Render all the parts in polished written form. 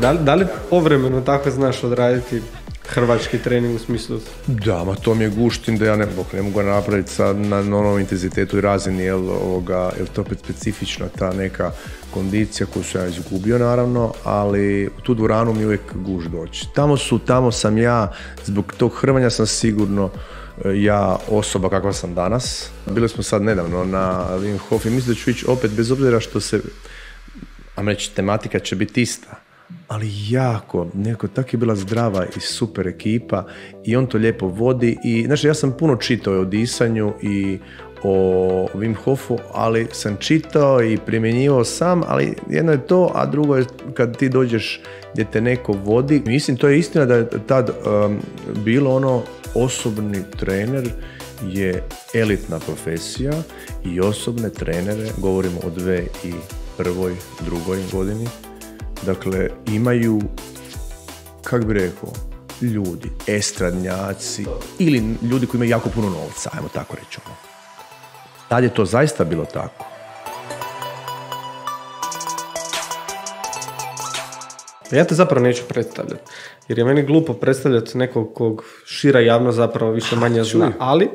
Da li povremeno tako znaš odraditi hrvački trening u smislu? Da, ma to mi je guštin da ja ne mogu napraviti sad na onom intenzitetu i razini, jer to opet specifična ta neka kondicija koju sam ja izgubio naravno, ali u tu dvoranu mi uvijek guš doći. Tamo sam ja, zbog tog hrvanja sam sigurno ja osoba kakva sam danas. Bili smo sad nedavno na Wim Hof i mislim da ću ići opet, bez obzira što se, a reći, tematika će biti ista, ali nekako tako je bila zdrava i super ekipa i on to lijepo vodi i znači ja sam puno čitao o disanju i o Wim Hofu, ali sam čitao i primjenjivao sam, ali jedno je to, a drugo je kad ti dođeš gdje te neko vodi. Mislim, to je istina da je tad bilo osobni trener je elitna profesija i osobne trenere, govorimo o 2001. 2. godini, dakle imaju, kako bi rekao, ljudi, estradnjaci ili ljudi koji imaju jako puno novca, ajmo tako reći. Tad je to zaista bilo tako. Ja te zapravo neću predstavljati, jer je meni glupo predstavljati nekog kog šira javnost zapravo više manje zna, ali...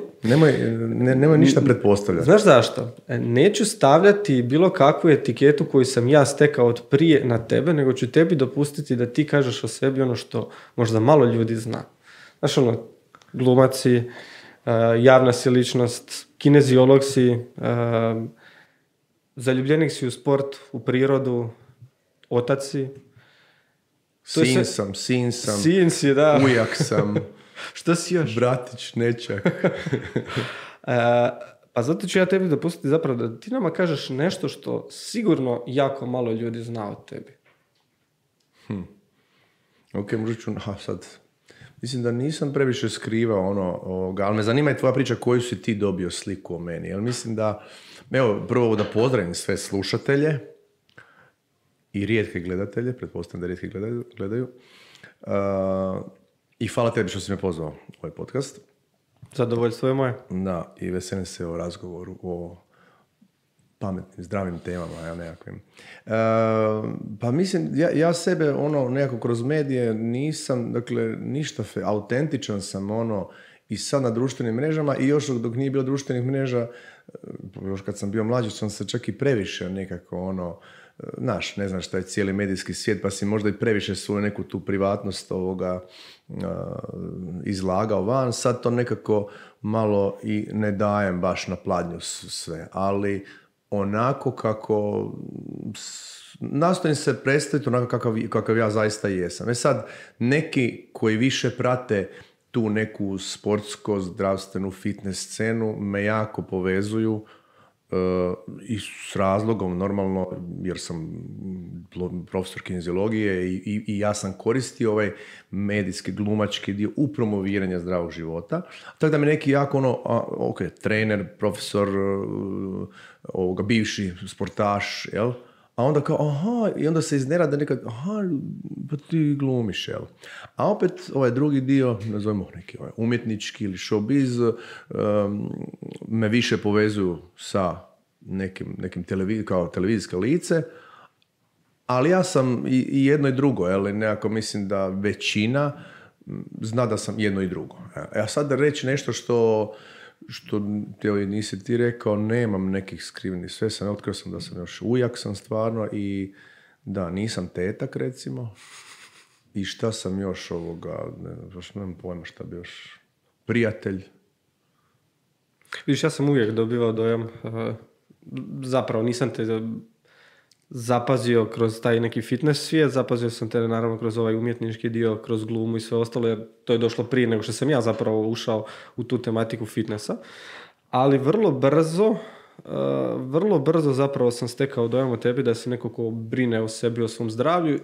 Nemoj ništa pretpostavljati. Znaš zašto? Neću stavljati bilo kakvu etiketu koju sam ja stekao od prije na tebe, nego ću tebi dopustiti da ti kažeš o sebi ono što možda malo ljudi zna. Znaš, glumac si, javna si ličnost, kineziolog si, zaljubljenik si u sport, u prirodu, otac si. Sin sam, si, da. ujak sam. Što si još? Bratić, nečak. Pa zato ću ja tebi dopustiti zapravo da ti nama kažeš nešto što sigurno jako malo ljudi zna od tebi. Ok, možda ću, sad, mislim da nisam previše skrivao ali me zanima i tvoja priča koju si ti dobio sliku o meni. Jer mislim da, evo, prvo da pozdravim sve slušatelje i rijetke gledatelje, pretpostavljam da rijetki gledaju. I hvala tebi što si me pozvao u ovaj podcast. Zadovoljstvo je moje. Da, i veselim se o razgovoru o pametnim, zdravim temama, nekakvim. Pa mislim, ja sebe nekako kroz medije nisam, dakle, ništa autentičan sam i sad na društvenim mrežama i još dok nije bilo društvenih mreža, još kad sam bio mlađi sam se čak i previše nekako ne znam šta je cijeli medijski svijet, pa si možda i previše svoju neku tu privatnost izlagao van. Sad to nekako malo i ne dajem baš na pladnju sve, ali onako kako nastojim se predstaviti onako kakav ja zaista jesam. Sad, neki koji više prate tu neku sportsko, zdravstvenu, fitness scenu me jako povezuju i s razlogom normalno, jer sam profesor kineziologije i ja sam koristio ovaj medijski, glumački dio u promoviranju zdravog života. Tako da mi neki jako trener, profesor, bivši sportaš, jel? A onda kao, i onda se iznenada nekad, pa ti glumiš, jel? A opet ovaj drugi dio, nazovimo neki umjetnički ili showbiz, me više povezuju sa nekim kao televizijske lice, ali ja sam i jedno i drugo, jel? Nekako mislim da većina zna da sam jedno i drugo. A sad da reći nešto što nisi ti rekao, nemam nekih skrivenih, sve sam, otkrio sam da sam još ujak sam stvarno i da, nisam tetak recimo i šta sam još nemam pojma šta bi još, prijatelj. Vidiš, ja sam uvijek dobivao dojam, zapravo nisam te zapazio kroz taj neki fitness svijet, zapazio sam te naravno kroz ovaj umjetnički dio, kroz glumu i sve ostalo, jer to je došlo prije nego što sam ja zapravo ušao u tu tematiku fitnessa. Ali vrlo brzo zapravo sam stekao dojam o tebi da si neko ko brine o sebi, o svom zdravlju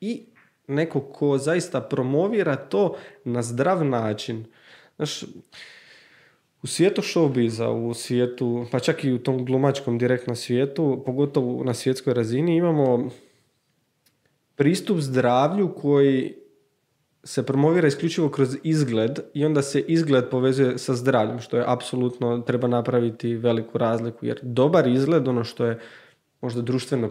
i neko ko zaista promovira to na zdrav način. Znaš, u svijetu showbiza, u svijetu, pa čak i u tom glumačkom direktnom svijetu, pogotovo na svjetskoj razini, imamo pristup zdravlju koji se promovira isključivo kroz izgled i onda se izgled povezuje sa zdravljem, što je apsolutno, treba napraviti veliku razliku, jer dobar izgled, ono što je možda društveno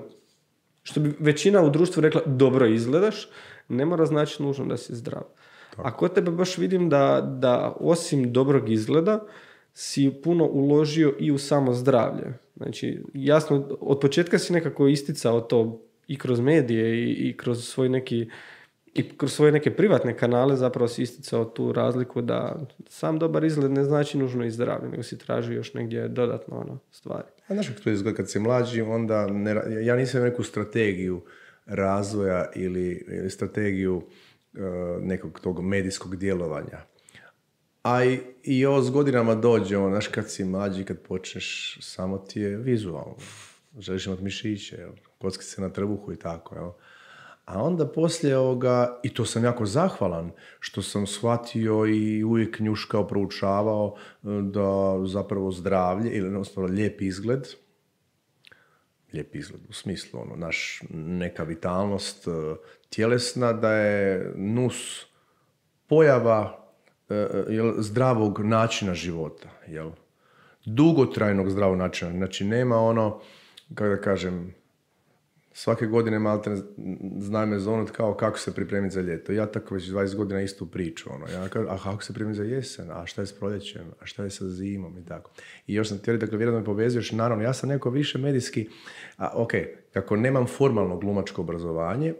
što bi većina u društvu rekla dobro izgledaš, ne mora znači nužno da si zdrav. Tako. A kod tebe baš vidim da osim dobrog izgleda si puno uložio i u samo zdravlje. Znači, jasno, od početka si nekako isticao to i kroz medije i kroz svoj neki i kroz svoje neke privatne kanale zapravo si isticao tu razliku da sam dobar izgled ne znači nužno i zdravlje, nego si traži još negdje dodatno stvari. A znaš kako to izgleda kad si mlađi, onda ja nisam neku strategiju razvoja ili strategiju nekog tog medijskog djelovanja. A i ovo s godinama dođe, znaš, kad si mlađi, kad počneš, samo ti je vizualno. Želiš imati mišiće, kocki se na trbuhu i tako, jel? A onda poslije ovoga, i to sam jako zahvalan, što sam shvatio i uvijek njuškao, proučavao da zapravo zdravlje, ili jednostavno lijep izgled u smislu, naš neka vitalnost tjelesna, da je nus pojava zdravog načina života, jel? Dugotrajnog zdravog načina. Znači, nema kako da kažem, svake godine malte znaj me zonut kao kako se pripremiti za ljeto. Ja tako već 20 godina istu priču. Ja kažem, a kako se pripremiti za jesen? A šta je s proljećem? A šta je sa zimom? I tako. I još sam htjeli, dakle, vjerojatno me povezuješ. Naravno, ja sam neko više medijski, kako nemam formalno glumačko obrazovanje,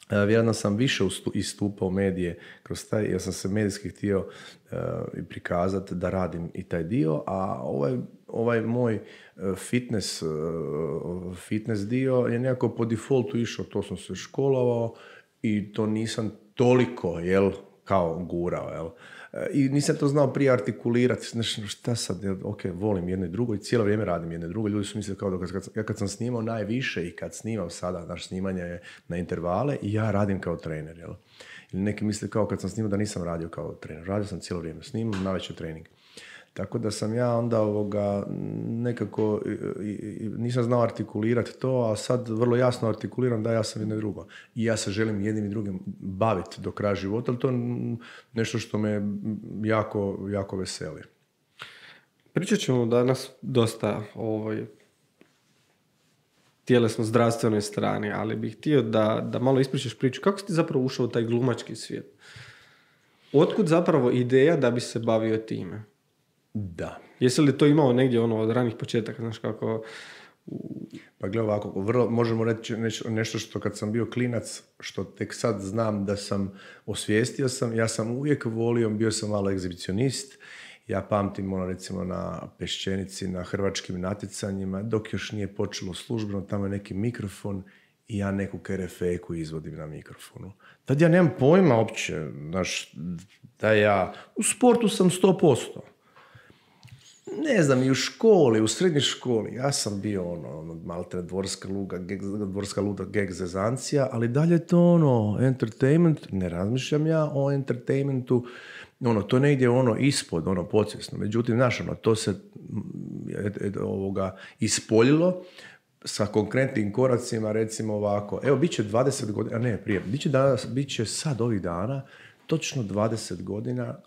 vjerojatno sam više istupao medije kroz taj, jer sam se medijski htio prikazati da radim i taj dio, a ovaj moj fitness dio je nekako po defaultu išao, to sam se školovao i to nisam toliko, kao gurao, I nisam to znao prije artikulirati, znači, šta sad, volim jedno i drugo i cijelo vrijeme radim jedno i drugo. Ljudi su mislili kao da kad sam snimao najviše i kad snimam sada, naš snimanje je na intervale i ja radim kao trener, Ili neki misle kao kad sam snimao da nisam radio kao trener. Radio sam cijelo vrijeme, snimam, navečer trening. Tako da sam ja onda nekako nisam znao artikulirati to, a sad vrlo jasno artikuliram da ja sam jedno i drugo. I ja se želim jednim i drugim baviti do kraja života, ali to je nešto što me jako, jako veseli. Pričat ćemo danas dosta o tjelesno zdravstvenoj strani, ali bih htio da malo ispričaš priču. Kako si ti zapravo ušao u taj glumački svijet? Otkud zapravo ideja da bi se bavio time? Da. Jesi li to imao negdje od ranih početaka, znaš kako... Pa gle ovako, vrlo možemo reći nešto što kad sam bio klinac, što tek sad znam da sam osvijestio sam, ja sam uvijek volio, bio sam malo egzibicionist, ja pamtim recimo na Peščenici, na hrvačkim natjecanjima, dok još nije počelo službeno, tamo je neki mikrofon i ja neku kerefeku izvodim na mikrofonu. Tad ja nemam pojma uopće, znaš, da ja, u sportu sam 100%. Ne znam, i u školi, u srednjoj školi, ja sam bio malte dvorska luda geg zezancija, ali dalje je to entertainment, ne razmišljam ja o entertainmentu, to negdje ispod, podsvjesno. Međutim, znaš, to se ispoljilo sa konkretnim koracima, recimo ovako, evo, bit će 20 godina, ne, prije, bit će sad ovih dana, točno 20 godina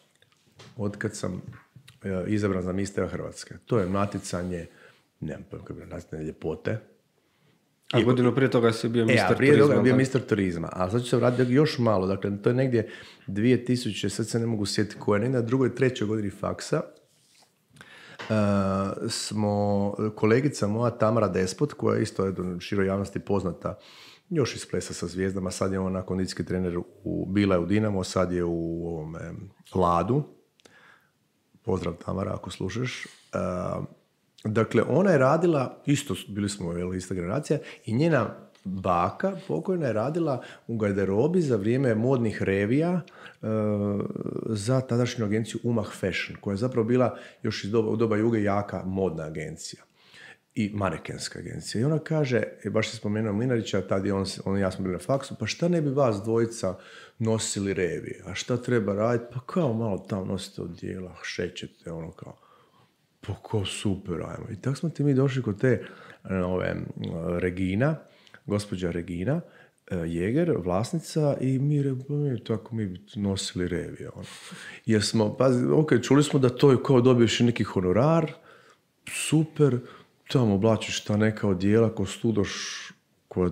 od kad sam izabran za mistera Hrvatske. To je natjecanje, nemam pojma kako je natjecanje ljepote. A godinu prije toga si bio mister turizma. Prije toga bio mister turizma, a sad ću se vratiti još malo, dakle, to je negdje 2000, sad se ne mogu sjetiti koja, negdje na drugoj, trećoj godini faksa, smo, kolegica moja Tamara Despot, koja je isto široj javnosti poznata, još iz Plesa sa zvijezdama, sad je ona kondicijski trener, bila je u Dinamo, sad je u Ladu. Pozdrav Tamara ako slušaš. Dakle, ona je radila, isto bili smo ista generacija, i njena baka pokojna je radila u garderobi za vrijeme modnih revija za tadašnju agenciju Umah Fashion, koja je zapravo bila još u doba Juge jaka modna agencija i manekenska agencija. I ona kaže, baš se spomenuo Mlinarića, tad je on i ja smo bili na faksu, pa šta ne bi vas dvojica nosili revije? A šta treba raditi? Pa kao malo tamo nosite odjela, šećete, kao, pa kao super, ajmo. I tako smo mi došli kod te Regina, gospođa Regina Jeger, vlasnica, i mi bi nosili revije. Jer smo, čuli smo da to je kao dobiješ neki honorar, super, tamo oblačiš ta neka odjela ko studoš, koja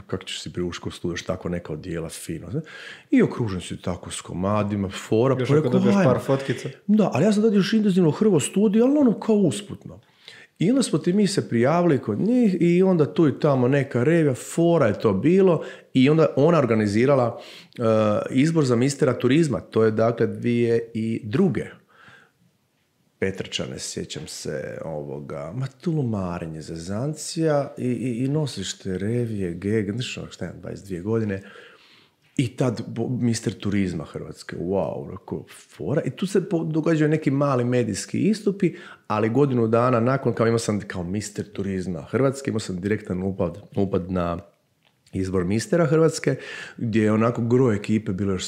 kako ćeš si priušiti kod studiju, tako neka odijela fino. Zna? I okružen si tako s komadima, fora. Još ako dobiješ par fotkica. Da, ali ja sam tad još intenzivno hrvo studiju, ali ono kao usputno. I onda smo mi se prijavili kod njih i onda tu i tamo neka revija, fora je to bilo i onda ona organizirala izbor za mistera turizma. To je dakle 2002. Petrčane, sjećam se ovoga, tulumarenje, zezancija i nosiš te revije, geg, šta je, 22 godine. I tad mister turizma Hrvatske, wow, fora. I tu se događaju neki mali medijski istupi, ali godinu dana nakon, kao imao sam kao mister turizma Hrvatske, imao sam direktan upad na izbor mistera Hrvatske, gdje je onako gro ekipe bilo još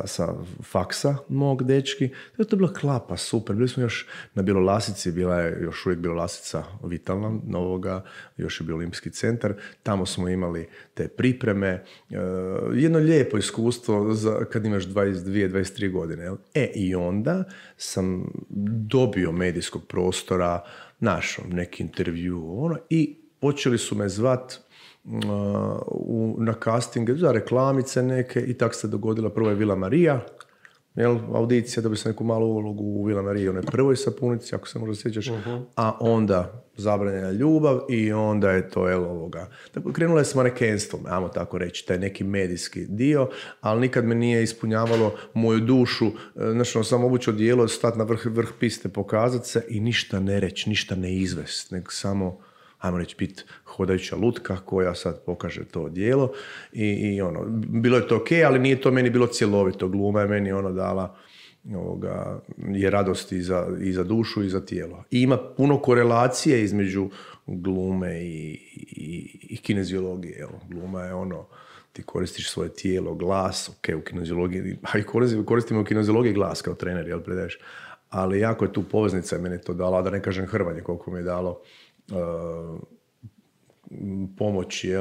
sa faksa mog dečki. To je bila klapa, super. Bili smo još na Bjelolasici, bila je još uvijek Bjelolasica vitalna novoga, još je bio Olimpijski centar. Tamo smo imali te pripreme. Jedno lijepo iskustvo kad imaš 22-23 godine. I onda sam dobio medijskog prostora, našao neki intervju i počeli su me zvat na castinge za reklamice neke i tako se dogodila. Prvo je Vila Marija, audicija, dobio sam neku malu ulogu u Vila Mariji, onoj prvoj sapunici, ako se možda sjećaš, a onda Zabranjena ljubav i onda je to Tako, krenulo je s manekenstvom, ajmo tako reći, taj neki medijski dio, ali nikad me nije ispunjavalo moju dušu, sam obuću odijelo, stati na vrh piste, pokazati se i ništa ne reći, ništa ne izvest, nego samo ajmo reći, biti hodajuća lutka koja sad pokaže to djelo i bilo je to okej, ali nije to meni bilo cjelovito. Gluma je meni dala je radost i za dušu i za tijelo. I ima puno korelacije između glume i kineziologije. Gluma je ti koristiš svoje tijelo, glas, u kineziologiji, a i koristimo u kineziologiji glas kao trener, predaješ. Ali jako je tu poveznica, meni je to dala, da ne kažem hrvanje, koliko mi je dalo pomoći,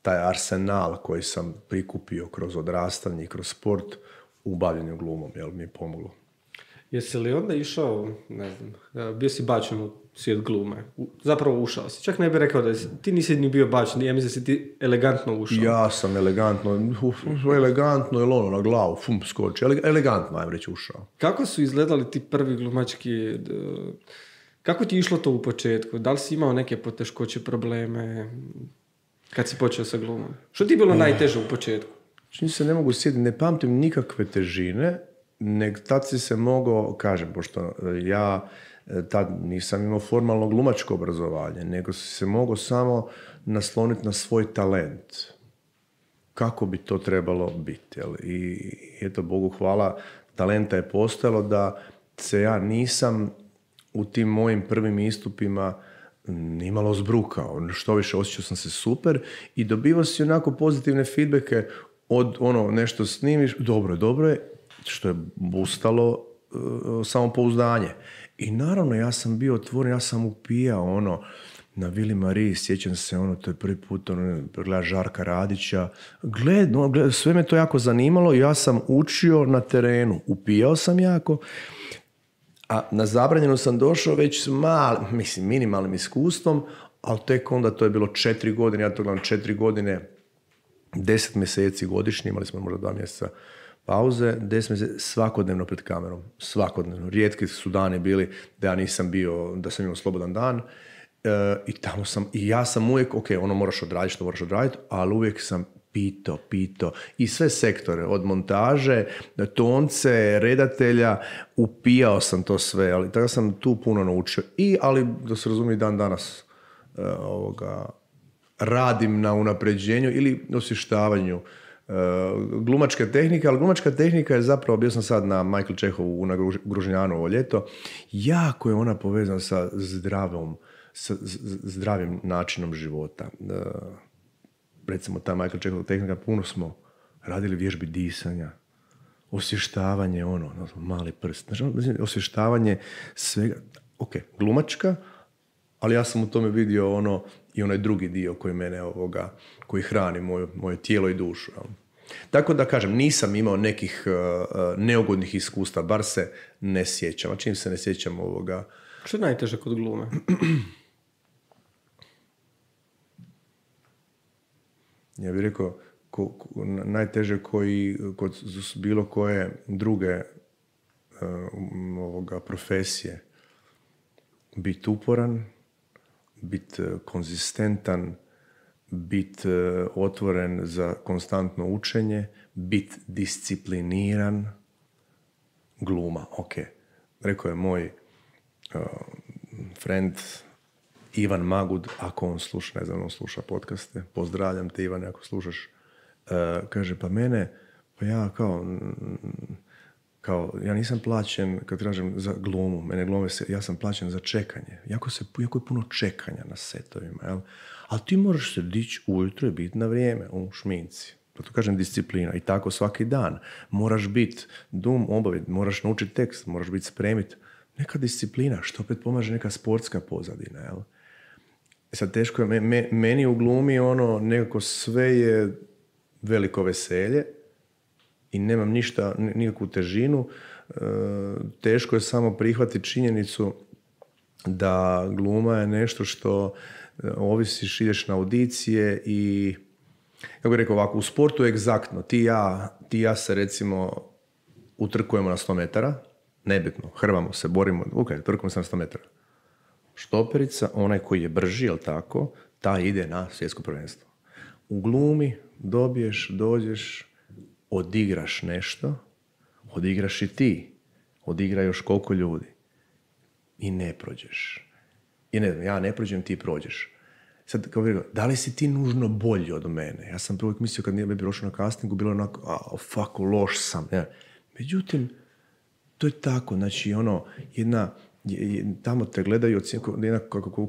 taj arsenal koji sam prikupio kroz odrastanje i kroz sport u bavljenju glumom, mi je pomoglo. Jesi li onda išao, ne znam, bio si bačen u svijet glume? Zapravo ušao si. Čak ne bih rekao da ti nisi ni bio bačen, ja mislim da si ti elegantno ušao. Ja sam elegantno, ili na glavu, skoči, elegantno, ajmo reći, ušao. Kako su izgledali ti prvi glumački... Kako ti je išlo to u početku? Da li si imao neke poteškoće, probleme kad si počeo sa glumom? Što ti je bilo najteže u početku? Čini se ne mogu sjetiti, ne pamtim nikakve težine, nego tad si se mogao, kažem, pošto ja tad nisam imao formalno glumačko obrazovanje, nego si se mogao samo nasloniti na svoj talent. Kako bi to trebalo biti? I eto, Bogu hvala, talenta je postojalo da se ja nisam u tim mojim prvim istupima nimalo zbrukao. Što više, osjećao sam se super i dobivao si onako pozitivne feedbacke od nešto snimiš, dobro je, što je boostalo samopouzdanje. I naravno, ja sam bio otvoren, ja sam upijao na Vili Mariji, sjećam se, to je prvi put, gleda Žarka Radića. Sve me to jako zanimalo i ja sam učio na terenu, upijao sam jako. A na Zabranjenu sam došao već s minimalnim iskustvom, ali tek onda to je bilo 4 godine, ja to gledam 4 godine, 10 mjeseci godišnje, imali smo možda 2 mjeseca pauze, 10 mjeseci svakodnevno pred kamerom, svakodnevno. Rijetki su dani bili da ja nisam bio, da sam imao slobodan dan i tamo sam, i ja sam uvijek, moraš odraditi što moraš odraditi, ali uvijek sam pito i sve sektore, od montaže, tonce, redatelja, upijao sam to sve, ali tako sam tu puno naučio. Ali da se razumije, dan danas radim na unapređenju ili osvještavanju glumačke tehnike, ali glumačka tehnika je zapravo, bio sam sad na Michael Čehovu na Gružnjanu ovo ljeto, jako je ona povezana sa zdravim načinom života. Recimo ta Michael Čehova tehnika, puno smo radili vježbi disanja, osvještavanje, mali prst, osvještavanje svega, glumačka, ali ja sam u tome vidio i onaj drugi dio koji mene koji hrani moje tijelo i dušu. Tako da kažem, nisam imao nekih neugodnih iskustva, bar se ne sjećam. A čim se ne sjećam Što je najteže kod glume? Ja bih rekao, najteže koji kod bilo koje druge profesije. Biti uporan, biti konzistentan, biti otvoren za konstantno učenje, biti discipliniran, gluma, ok. Rekao je moj friend Ivan Magud, ako on sluša, ne znam, on sluša podcaste, pozdravljam te Ivane ako slušaš, kaže, pa mene, pa ja ja nisam plaćen, kad kažem za glumu, ja sam plaćen za čekanje. Jako je puno čekanja na setovima, jel? Ali ti moraš se dići ujutro i biti na vrijeme u šminci. Pa to kažem disciplina. I tako svaki dan. Moraš biti obaviti, moraš naučiti tekst, moraš biti spremit. Neka disciplina, što opet pomaže neka sportska pozadina, jel? Sad teško je, meni u glumi nekako sve je veliko veselje i nemam nikakvu težinu. Teško je samo prihvatiti činjenicu da gluma je nešto što ovisiš, ideš na audicije i, kako bih rekao ovako, u sportu je egzaktno. Ti i ja se recimo utrkujemo na 100 metara, nebitno, hrvamo se, borimo, trkujemo se na 100 metara. Štoperica, onaj koji je brži, jel tako, taj ide na svjetsko prvenstvo. U glumi dođeš, odigraš nešto, odigraš i ti, odigra još koliko ljudi i ne prođeš. I ne znam, ja ne prođem, ti prođeš. Sad, kao bih rekao, da li si ti nužno bolji od mene? Ja sam prvo mislio kad nije bi prošao na castingu, bilo onako, loš sam. Ja. Međutim, to je tako, znači tamo te gledaju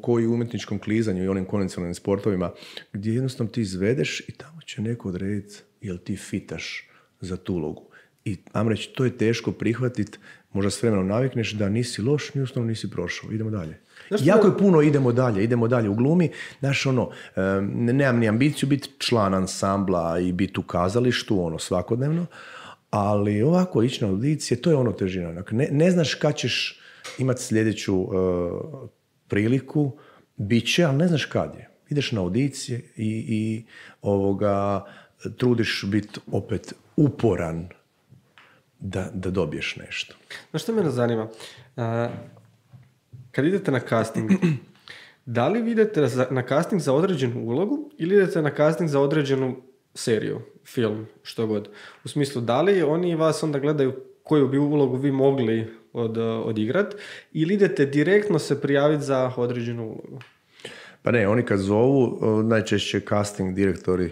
koji u umjetničkom klizanju i onim konvencionalnim sportovima, gdje jednostavno ti izvedeš i tamo će neko odrediti jel ti fitaš za tu ulogu. I ajmo reći, to je teško prihvatiti, možda s vremenom navikneš da nisi loš, jednostavno nisi prošao, idemo dalje. Jako je puno idemo dalje u glumi. Znaš, nemam ni ambiciju biti član ansambla i biti u kazalištu, svakodnevno, ali ovako ići na audicije, to je težina. Ne znaš kad ćeš imati sljedeću priliku, bit će, ali ne znaš kad je. Ideš na audicije i trudiš biti opet uporan da dobiješ nešto. Znaš što mene zanima? Kad idete na casting, da li idete na casting za određenu ulogu ili idete na casting za određenu seriju, film, što god? U smislu, da li oni vas onda gledaju koju bi ulogu vi mogli odigrati ili idete direktno se prijaviti za određenu ulogu? Pa ne, oni kad zovu, najčešće casting direktori,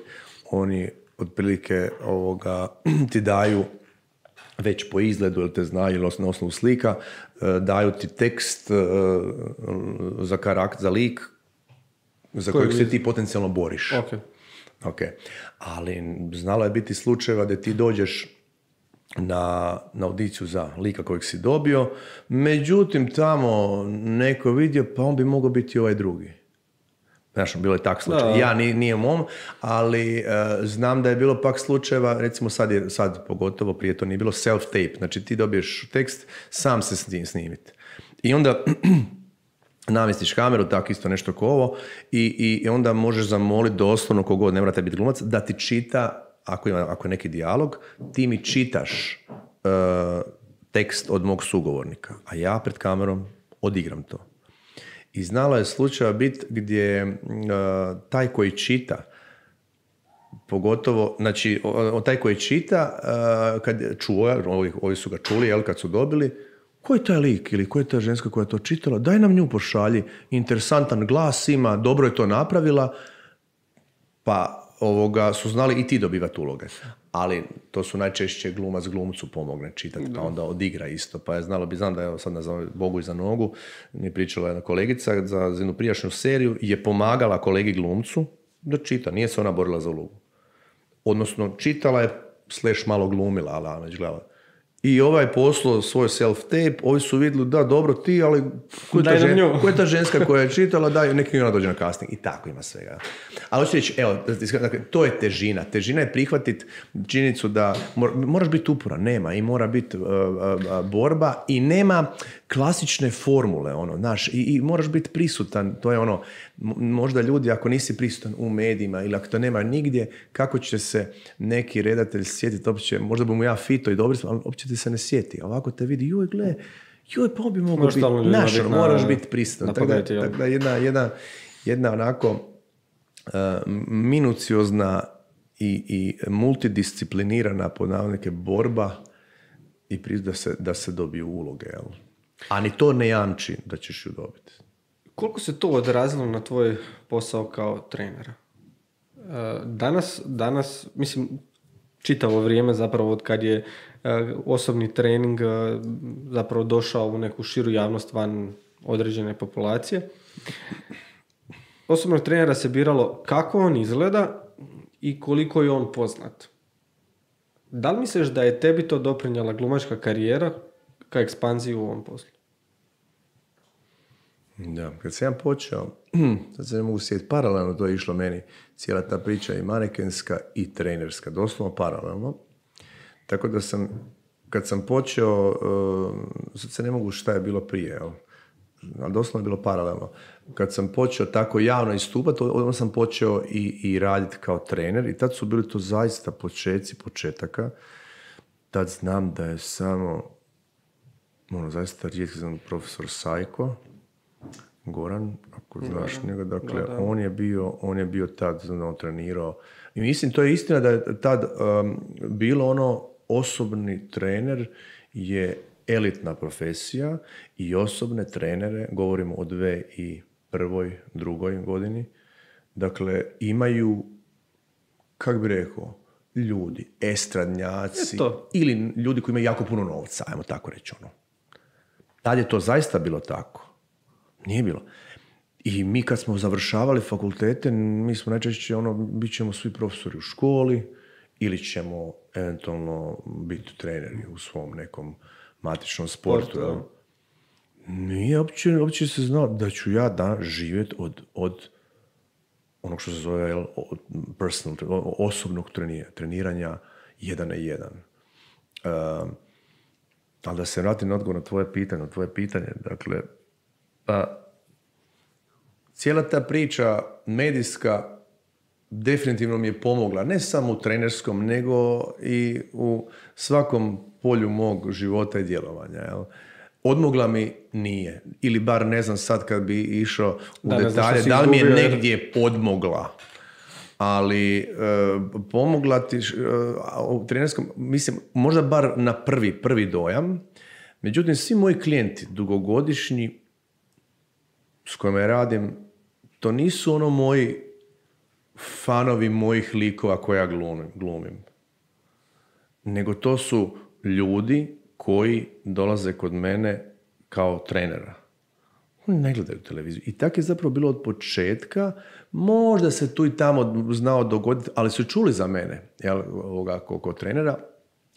oni otprilike ti daju već po izgledu, ili te znaju, ili na osnovu slika, daju ti tekst za karakter, za lik za kojeg se ti potencijalno boriš. Okay. Ali znalo je biti slučajeva da ti dođeš na audiciju za lika kojeg si dobio, međutim tamo neko vidio, pa on bi mogao biti ovaj drugi. Znaš, bilo je tak slučaj. Ja nije mom, ali znam da je bilo pak slučajeva, recimo sad pogotovo prije to nije bilo self-tape, znači ti dobiješ tekst, sam se snimiti. I onda namjestiš kameru, tako isto nešto ko ovo, i onda možeš zamoliti doslovno kogod, ne morate biti glumac, da ti čita, ako je neki dijalog, ti mi čitaš tekst od mog sugovornika, a ja pred kamerom odigram to. I znalo je slučaja biti gdje taj koji čita, pogotovo, znači, taj koji čita, kad čuo, ovi su ga čuli, jel, kad su dobili, ko je taj lik ili ko je ta ženska koja je to čitala, daj nam nju pošalji, interesantan glas ima, dobro je to napravila, pa su znali i ti dobivati uloge. Ali to su najčešće glumac glumcu pomogne čitati, pa onda odigra isto. Pa je znam da je sad nazvao Bogu iza nogu, mi pričala jedna kolegica za jednu prijašnju seriju, je pomagala kolegi glumcu da čita, nije se ona borila za ulogu. Odnosno, čitala je, / malo glumila, ali već gledala. I ovaj poslao svoj self-tape, ovi su vidjeli, da, dobro ti, ali ko je ta ženska koja je čitala, daj, neki ona dođe na casting. I tako ima svega. Ali hoću reći, evo, to je težina. Težina je prihvatiti činjenicu da moraš biti uporan, nema, i mora biti borba, i nema klasične formule, ono, znaš, i moraš biti prisutan, to je ono, možda ljudi ako nisi prisutan u medijima ili ako to nema nigdje, kako će se neki redatelj sjetiti, uopće, možda bi mu ja fito i dobri, ali uopće ti se ne sjeti, a ovako te vidi, pa bi mogao biti, znaš, moraš biti prisutan, tako da jedna onako minuciozna i multidisciplinirana pod navodnike borba i da se dobiju uloge, jel? A ni to ne jamči da ćeš ju dobiti. Koliko se to odrazilo na tvoj posao kao trenera? Danas, mislim, čitavo vrijeme zapravo od kad je osobni trening zapravo došao u neku širu javnost van određene populacije. Osobnog trenera se biralo kako on izgleda i koliko je on poznat. Da li misliš da je tebi to doprinjela glumačka karijera ka ekspanziji u ovom poslu? Da, kad sam ja počeo, sad se ne mogu sjetiti, paralelno to je išlo meni, cijela ta priča i manekenska i trenerska, doslovno paralelno. Tako da kad sam počeo, sad se ne mogu šta je bilo prije, ali doslovno je bilo paralelno. Kad sam počeo tako javno istupati, onda sam počeo i raditi kao trener i tad su bili to zaista početaka. Tad znam da je samo, zaista rijetki znam profesor Sajko, Goran, ako znaš njega, dakle, da. On je bio tad, on trenirao. I mislim, to je istina da je tad bilo ono, osobni trener je elitna profesija i osobne trenere, govorimo o 2001., 2002. godini, dakle, imaju, kako bi rekao, ljudi, estradnjaci, ili ljudi koji imaju jako puno novca, ajmo tako reći ono. Tad je to zaista bilo tako. Nije bilo. I mi kad smo završavali fakultete, mi smo najčešće bit ćemo svi profesori u školi ili ćemo eventualno biti treneri u svom nekom matičnom sportu. Nije uopće se znao da ću ja živjeti od onog što se zove personal, osobnog treniranja 1 na 1. Ali da se vratim na odgovor na tvoje pitanje, dakle, cijela ta priča medijska definitivno mi je pomogla, ne samo u trenerskom, nego i u svakom polju mog života i djelovanja. Jel? Odmogla mi nije, ili bar ne znam sad kad bi išao u detalje, da li mi je negdje podmogla. Ali pomogla ti u trenerskom, mislim, možda bar na prvi dojam. Međutim, svi moji klijenti, dugogodišnji, s kojima ja radim, to nisu moji fanovi mojih likova koje ja glumim. Nego to su ljudi koji dolaze kod mene kao trenera. Oni ne gledaju televiziju. I tako je zapravo bilo od početka. Možda se tu i tamo znao dogoditi, ali su čuli za mene kao trenera.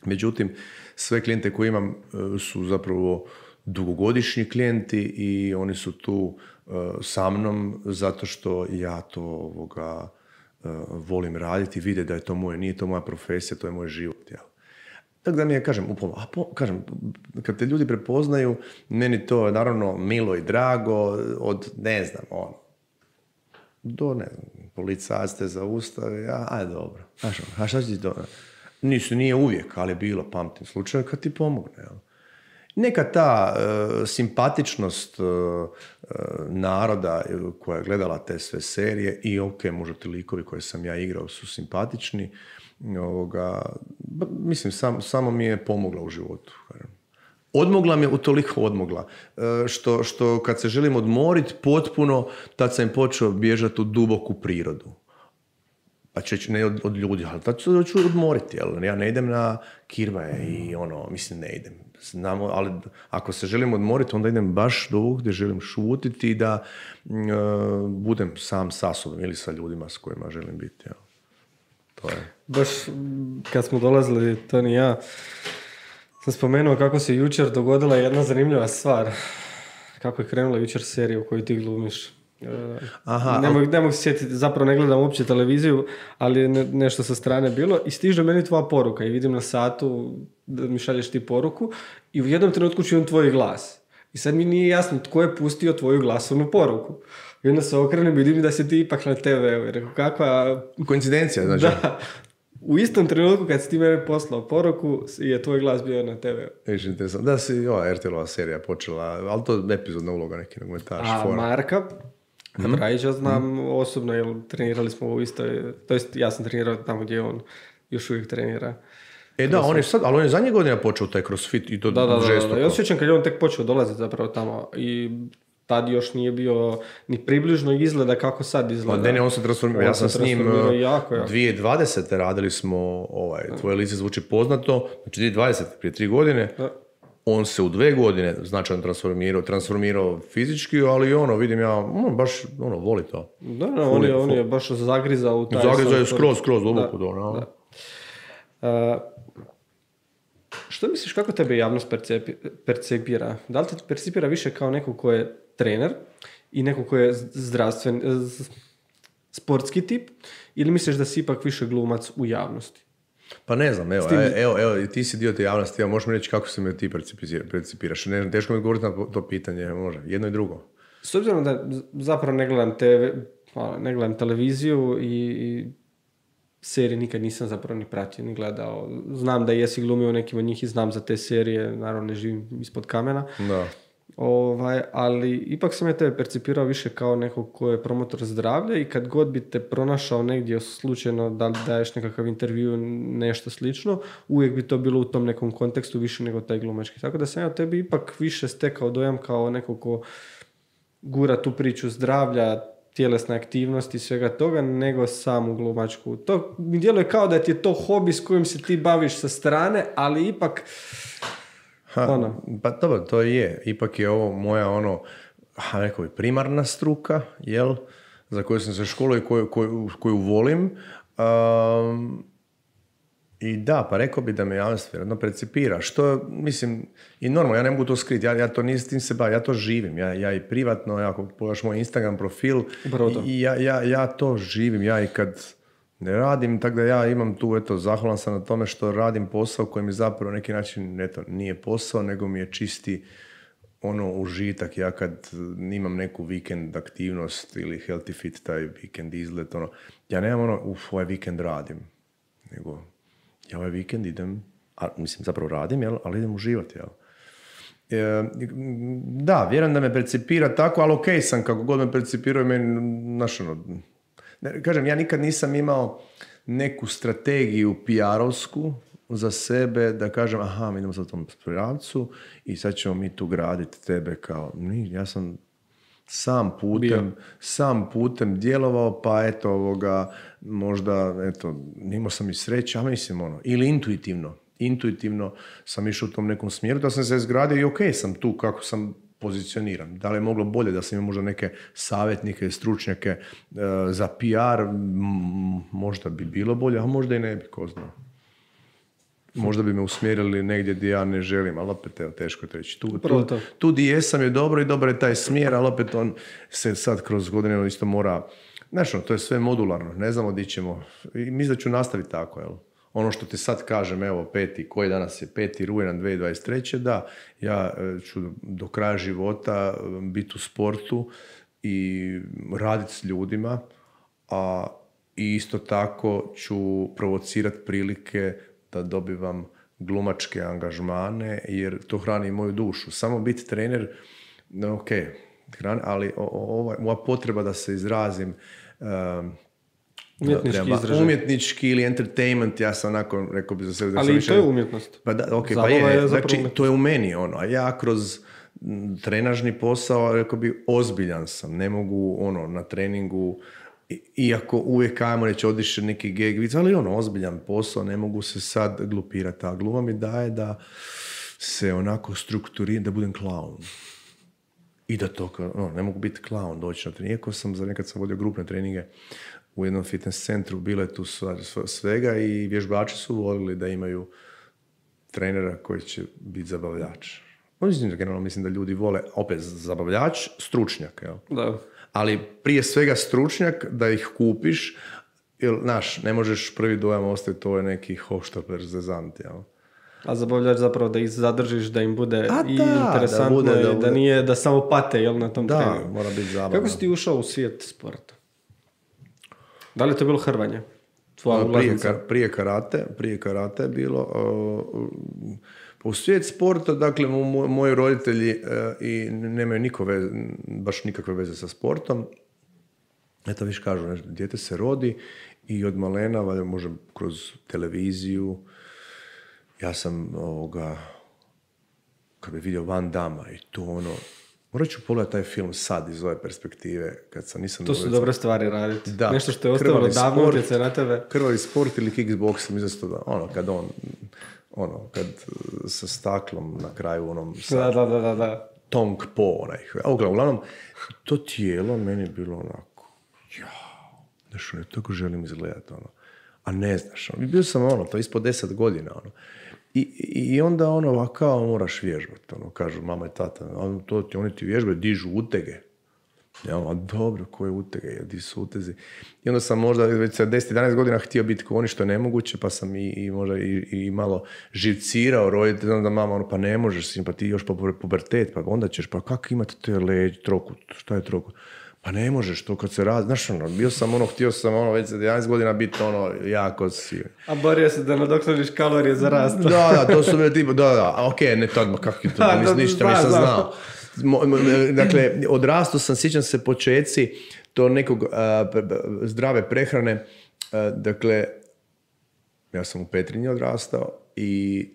Međutim, sve klijente koje imam su zapravo dugogodišnji klijenti i oni su tu sa mnom zato što ja to volim raditi, vide da je to moje, nije to moja profesija, to je moj život. Jel? Tako da mi je, kažem, kad te ljudi prepoznaju, meni to je naravno milo i drago, od, ne znam, do, ne znam, policajac te zaustave, ajde dobro, a šta će ti to? Nije uvijek, ali je bilo, pamtim slučaj kad ti pomogne, jel? Neka ta simpatičnost naroda koja je gledala te sve serije i možda ti likovi koje sam ja igrao su simpatični, mislim, samo mi je pomogla u životu. Odmogla mi je, utoliko odmogla, što kad se želim odmoriti potpuno, tad sam počeo bježati u duboku prirodu. Pa ne od ljudi, ali tad ću odmoriti, jel? Ja ne idem na kirvaje i mislim ne idem. Ali ako se želim odmoriti, onda idem baš do gdje želim šutiti i da budem sam sa sobom ili sa ljudima s kojima želim biti. Jel? To je. Baš kad smo dolazili, Toni i ja, sam spomenuo kako se jučer dogodila jedna zanimljiva stvar. Kako je krenula jučer serija u kojoj ti glumiš. Ne mogu se sjetiti, zapravo ne gledam uopće televiziju, ali je nešto sa strane bilo i stiže meni tvoja poruka i vidim na satu da mi šalješ ti poruku i u jednom trenutku čujem tvoj glas. I sad mi nije jasno tko je pustio tvoju glasovnu poruku. I onda se okrenem i vidim da si ti ipak na TV-u. I rekao, kakva... Koincidencija, znači. Da. U istom trenutku kad si ti mene poslao poruku, je tvoj glas bio na TV-u. Viš, interesantno. Da si ova RTL-ova serija počela, ali to je epizodna uloga, neki nogometaš. A Marka, Rajića znam osobno, jer trenirali smo u istoj... To jest, ja sam trenirao tamo gdje on još uvijek trenira. Da, on je sad, ali on je zadnje godine počeo taj crossfit i to žestoko. Da. Ja osjećam kad je on tek počeo dolaziti zapravo tamo i tad još nije bio ni približno izgleda kako sad izgleda. Pa ne, on se transformirao. Ja sam s njim jako. 2020. radili smo, tvoje lice zvuči poznato, znači 2020, prije 3 godine, on se u 2 godine značajno transformirao fizički, ali vidim ja, baš voli to. Da, on je baš zagrizao u taj... Zagrizao je skroz duboko. Što misliš, kako tebe javnost percepira? Da li te percepira više kao neko ko je trener i neko ko je sportski tip, ili misliš da si ipak više glumac u javnosti? Pa ne znam, evo, ti si dio te javnosti, možeš mi reći kako se me ti percipiraš. Teško mi govoriti na to pitanje, može, jedno i drugo. S obzirom da zapravo ne gledam televiziju i serije nikad nisam zapravo ni pratio, ni gledao. Znam da jesi glumio nekim od njih i znam za te serije, naravno ne živim ispod kamena. Da. Ali ipak sam ja tebe percipirao više kao nekog ko je promotor zdravlja i kad god bi te pronašao negdje slučajno da daješ nekakav intervju, nešto slično, uvijek bi to bilo u tom nekom kontekstu više nego taj glumački. Tako da sam ja tebi ipak više stekao dojam kao nekog ko gura tu priču zdravlja, tjelesne aktivnosti i svega toga, nego samu glumačku. To mi djeluje kao da ti je to hobi s kojim se ti baviš sa strane, ali ipak... Pa dobro, to je. Ipak je ovo moja rekao bi, primarna struka, jel? Za koju sam se školio i koju volim. I da, pa rekao bi da me javnost vjerojatno percipira. Što, mislim, i normalno, ja ne mogu to skriti, ja to nisam tim se bavim, ja to živim, ja i privatno, ako pogledaš moj Instagram profil, i ja to živim, ja i kad ne radim, tako da ja imam tu, zahvalan sam na tome što radim posao koji mi zapravo na neki način, nije posao, nego mi je čisti užitak. Ja kad imam neku vikend aktivnost ili healthy fit, taj vikend izlet, ja nemam ovaj vikend radim, nego ja ovaj vikend idem, zapravo radim, ali idem uživati, jel? Da, vjerujem da me percipira tako, ali okej sam, kako god me percipiraju, meni, kažem, ja nikad nisam imao neku strategiju PR-ovsku za sebe, da kažem, mi idemo za tom pravcu i sad ćemo mi tu graditi tebe kao, ja sam sam putem djelovao, pa možda, nimao sam i sreće, mislim, ili intuitivno sam išao u tom nekom smjeru, da sam se izgradio i okej sam tu kako sam pozicioniran. Da li je moglo bolje da sam imao možda neke savjetnike, stručnjake za PR, možda bi bilo bolje, a možda i ne bi, ko zna. Možda bi me usmjerili negdje gdje ja ne želim, ali opet teško je reći. Tu gdje jesam je dobro i dobar je taj smjer, ali opet on se sad kroz godine isto mora, to je sve modularno, ne znamo gdje ćemo. I mislim da ću nastaviti tako, jel? Ono što ti sad kažem, koji danas je 5. rujan 2023. Da, ja ću do kraja života biti u sportu i raditi s ljudima, a isto tako ću provocirati prilike da dobivam glumačke angažmane, jer to hrani moju dušu. Samo biti trener, ali moja potreba da se izrazim umjetnički ili entertainment, ja sam rekao bi za sebe... Ali i to je umjetnost. Pa je, znači to je u meni a ja kroz trenažni posao, rekao bi, ozbiljan sam, ne mogu na treningu, iako uvijek ajmo reći odiše neki geg, ali ozbiljan posao, ne mogu se sad glupirati, a gluma mi daje da se onako strukturiram, da budem klaun. I da to, ne mogu biti klaun, doći na trening. Iako nekad sam vodio grupne treninge u jednom fitness centru, bilo je tu svega i vježbači su volili da imaju trenera koji će biti zabavljač. Generalno mislim da ljudi vole, opet, zabavljač, stručnjak, jel? Da. Ali prije svega stručnjak da ih kupiš, jer, ne možeš prvi dojam ostaviti, to je neki hoštaper zezant, jel? A zabavljač zapravo da ih zadržiš, da im bude i da, interesantno, da nije da samo pate, jel, na tom treningu. Da, mora biti zabavno. Kako si ti ušao u svijet sporta? Da li je to bilo hrvanje? Prije karate je bilo. U svijet sporta, dakle, moji roditelji i nemaju baš nikakve veze sa sportom. Eto, viš kažu, dijete se rodi i od malena, valjda može kroz televiziju. Ja sam kad bi vidio Van Damme i to morat ću pogledati taj film sad iz ove perspektive. To su dobre stvari raditi. Da, nešto što je ostavilo davno utjecaj na tebe. Krvavi sport ili kickbox, mislim da kad kad sa staklom na kraju Da. Tong Po, uglavnom, to tijelo meni je bilo onako, nešto ne tako želim izgledati, a ne znaš, bio sam to ispod 10 godina, I onda kao moraš vježbati, kažu mama i tata, oni ti vježbaju, dižu utege. Ja, dobro, koje utege, di su utezi. I onda sam možda već sa 10-11 godina htio biti kao oni, što je nemoguće, pa sam i možda i malo živcirao roditelj, onda mama, pa ne možeš, pa ti još pubertet, pa onda ćeš, pa kako imati te trokut, šta je trokut? Pa ne možeš to kad se radi, znaš bio sam htio sam već za 11 godina biti jako sivan. A borio se da nadoknadiš kalorije za rast. Da, to su bili tipa, ne to odmah, kako je to, ništa nisam znao. Dakle, odrastao sam, sjećam se počeci to nekog zdrave prehrane, dakle, ja sam u Petrinji odrastao i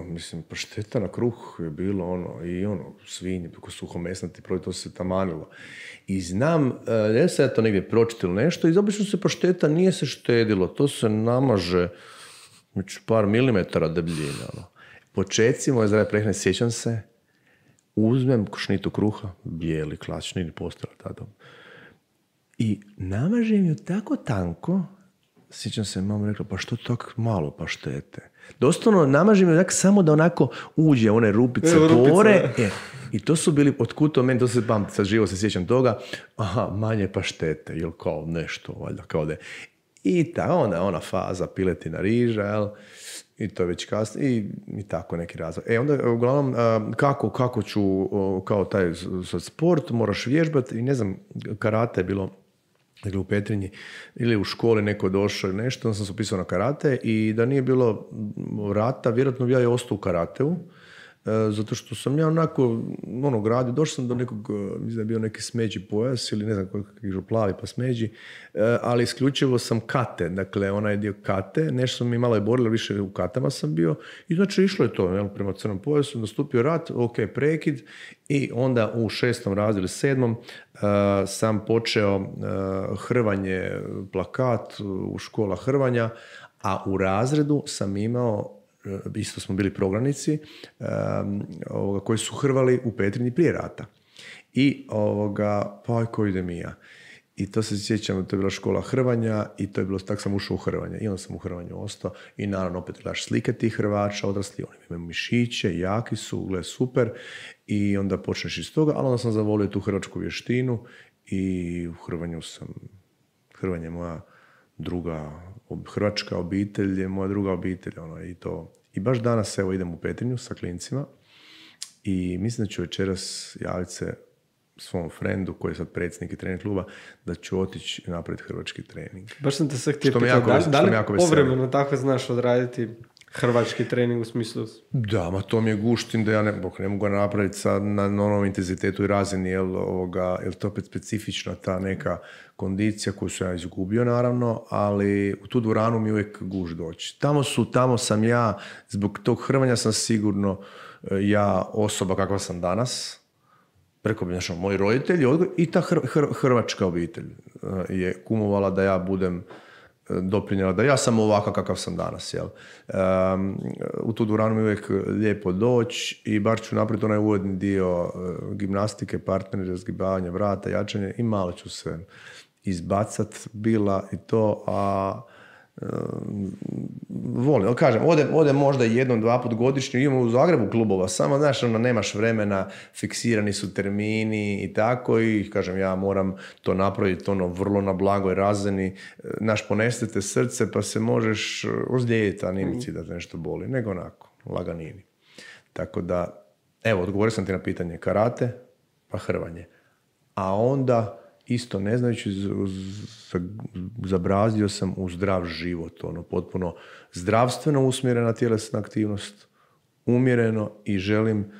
mislim, pašteta na kruh je bilo i svinje, suhomesnati proizvod, to se tamanilo. I znam, ne sam ja to negdje pročitao nešto, i obično se pašteta nije se štedilo, to se namaže među par milimetara debljine. Počeci moje zdrave prehrane, sjećam se, uzmem šnitu kruha, bijeli, klasični, ili postara tada, i namažem ju tako tanko, sjećam se, mama rekla, pa što tako malo paštete? Doslovno namažem ju samo da onako uđe one rupice, pore. I to su bili, otkud to meni, to se pamti, sad živo se sjećam toga, manje paštete, ili kao nešto, valjda, kao da je. I ona faza piletina riža, jel? I to je već kasno, i tako neki razvoj. Onda, uglavnom, kako ću, kao taj sport, moraš vježbati, i ne znam, karate je bilo, dakle, u Petrinji, ili u školi neko došao ili nešto, onda sam se upisao na karate, i da nije bilo rata, vjerojatno bi ja ostao u karateu, zato što sam ja onako gradio, došao sam do nekog, mislim da je bio neki smeđi pojas ili ne znam koji plavi pa smeđi, ali isključivo sam kate, dakle onaj dio kate, nešto sam mi malo je borilo, više u katama sam bio, i znači išlo je to, prema crnom pojasu, nastupio rat, prekid, i onda u 6. razredu, 7. sam počeo hrvanje, plakat u škola hrvanja, a u razredu sam imao, isto smo bili prognanici, koji su hrvali u Petrinji prije rata. I pa ko idem i ja. I to se sjećam, to je bila škola hrvanja, i to je bilo, tako sam ušao u hrvanje. I onda sam u hrvanju ostao, i naravno opet gledaš slike tih Hrvača, odrasli, oni imaju mišiće, jaki su, gled super, i onda počneš iz toga, ali onda sam zavolio tu hrvačku vještinu, i u hrvanju hrvanje je moja druga, hrvačka obitelj je moja druga obitelj, i to. I baš danas, evo, idem u Petrinju sa klincima, i mislim da ću večeras javiti se svom frendu, koji je sad predsjednik i trener kluba, da ću otići napraviti hrvački trening. Baš sam te sad htio pitati, da li povremeno tako znaš odraditi hrvački trening u smislu? Da, ma to mi je guštin da ja ne mogu napraviti sad na onom intenzitetu i razini, jer to opet specifična ta neka kondicija koju sam ja izgubio, naravno, ali u tu dvoranu mi uvijek guš doći. Tamo sam ja, zbog tog hrvanja sam sigurno ja osoba kakva sam danas, preko moji roditelji, i ta hrvačka obitelj je kumovala da ja budem doprinjela, da ja sam ovakav kakav sam danas. Jel? U tu dvoranu mi uvijek lijepo doći, i bar ću napraviti onaj uvodni dio gimnastike, partneri, razgibavanje vrata, jačanje, i malo ću se izbacat bila i to, a volim, kažem, odem možda 1-2 put godišnje, imamo u Zagrebu klubova, samo, znaš, nemaš vremena, fiksirani su termini i tako, i kažem, ja moram to napraviti vrlo na blagoj razini, naš ponestete srce, pa se možeš ozlijediti, a nije mi cilj da te nešto boli, nego onako. laganini. Tako da, evo, odgovorio sam ti na pitanje karate, pa hrvanje. A onda, isto ne znajući, zabrazdio sam u zdrav život, potpuno zdravstveno usmjerena tjelesna aktivnost, umjereno i želim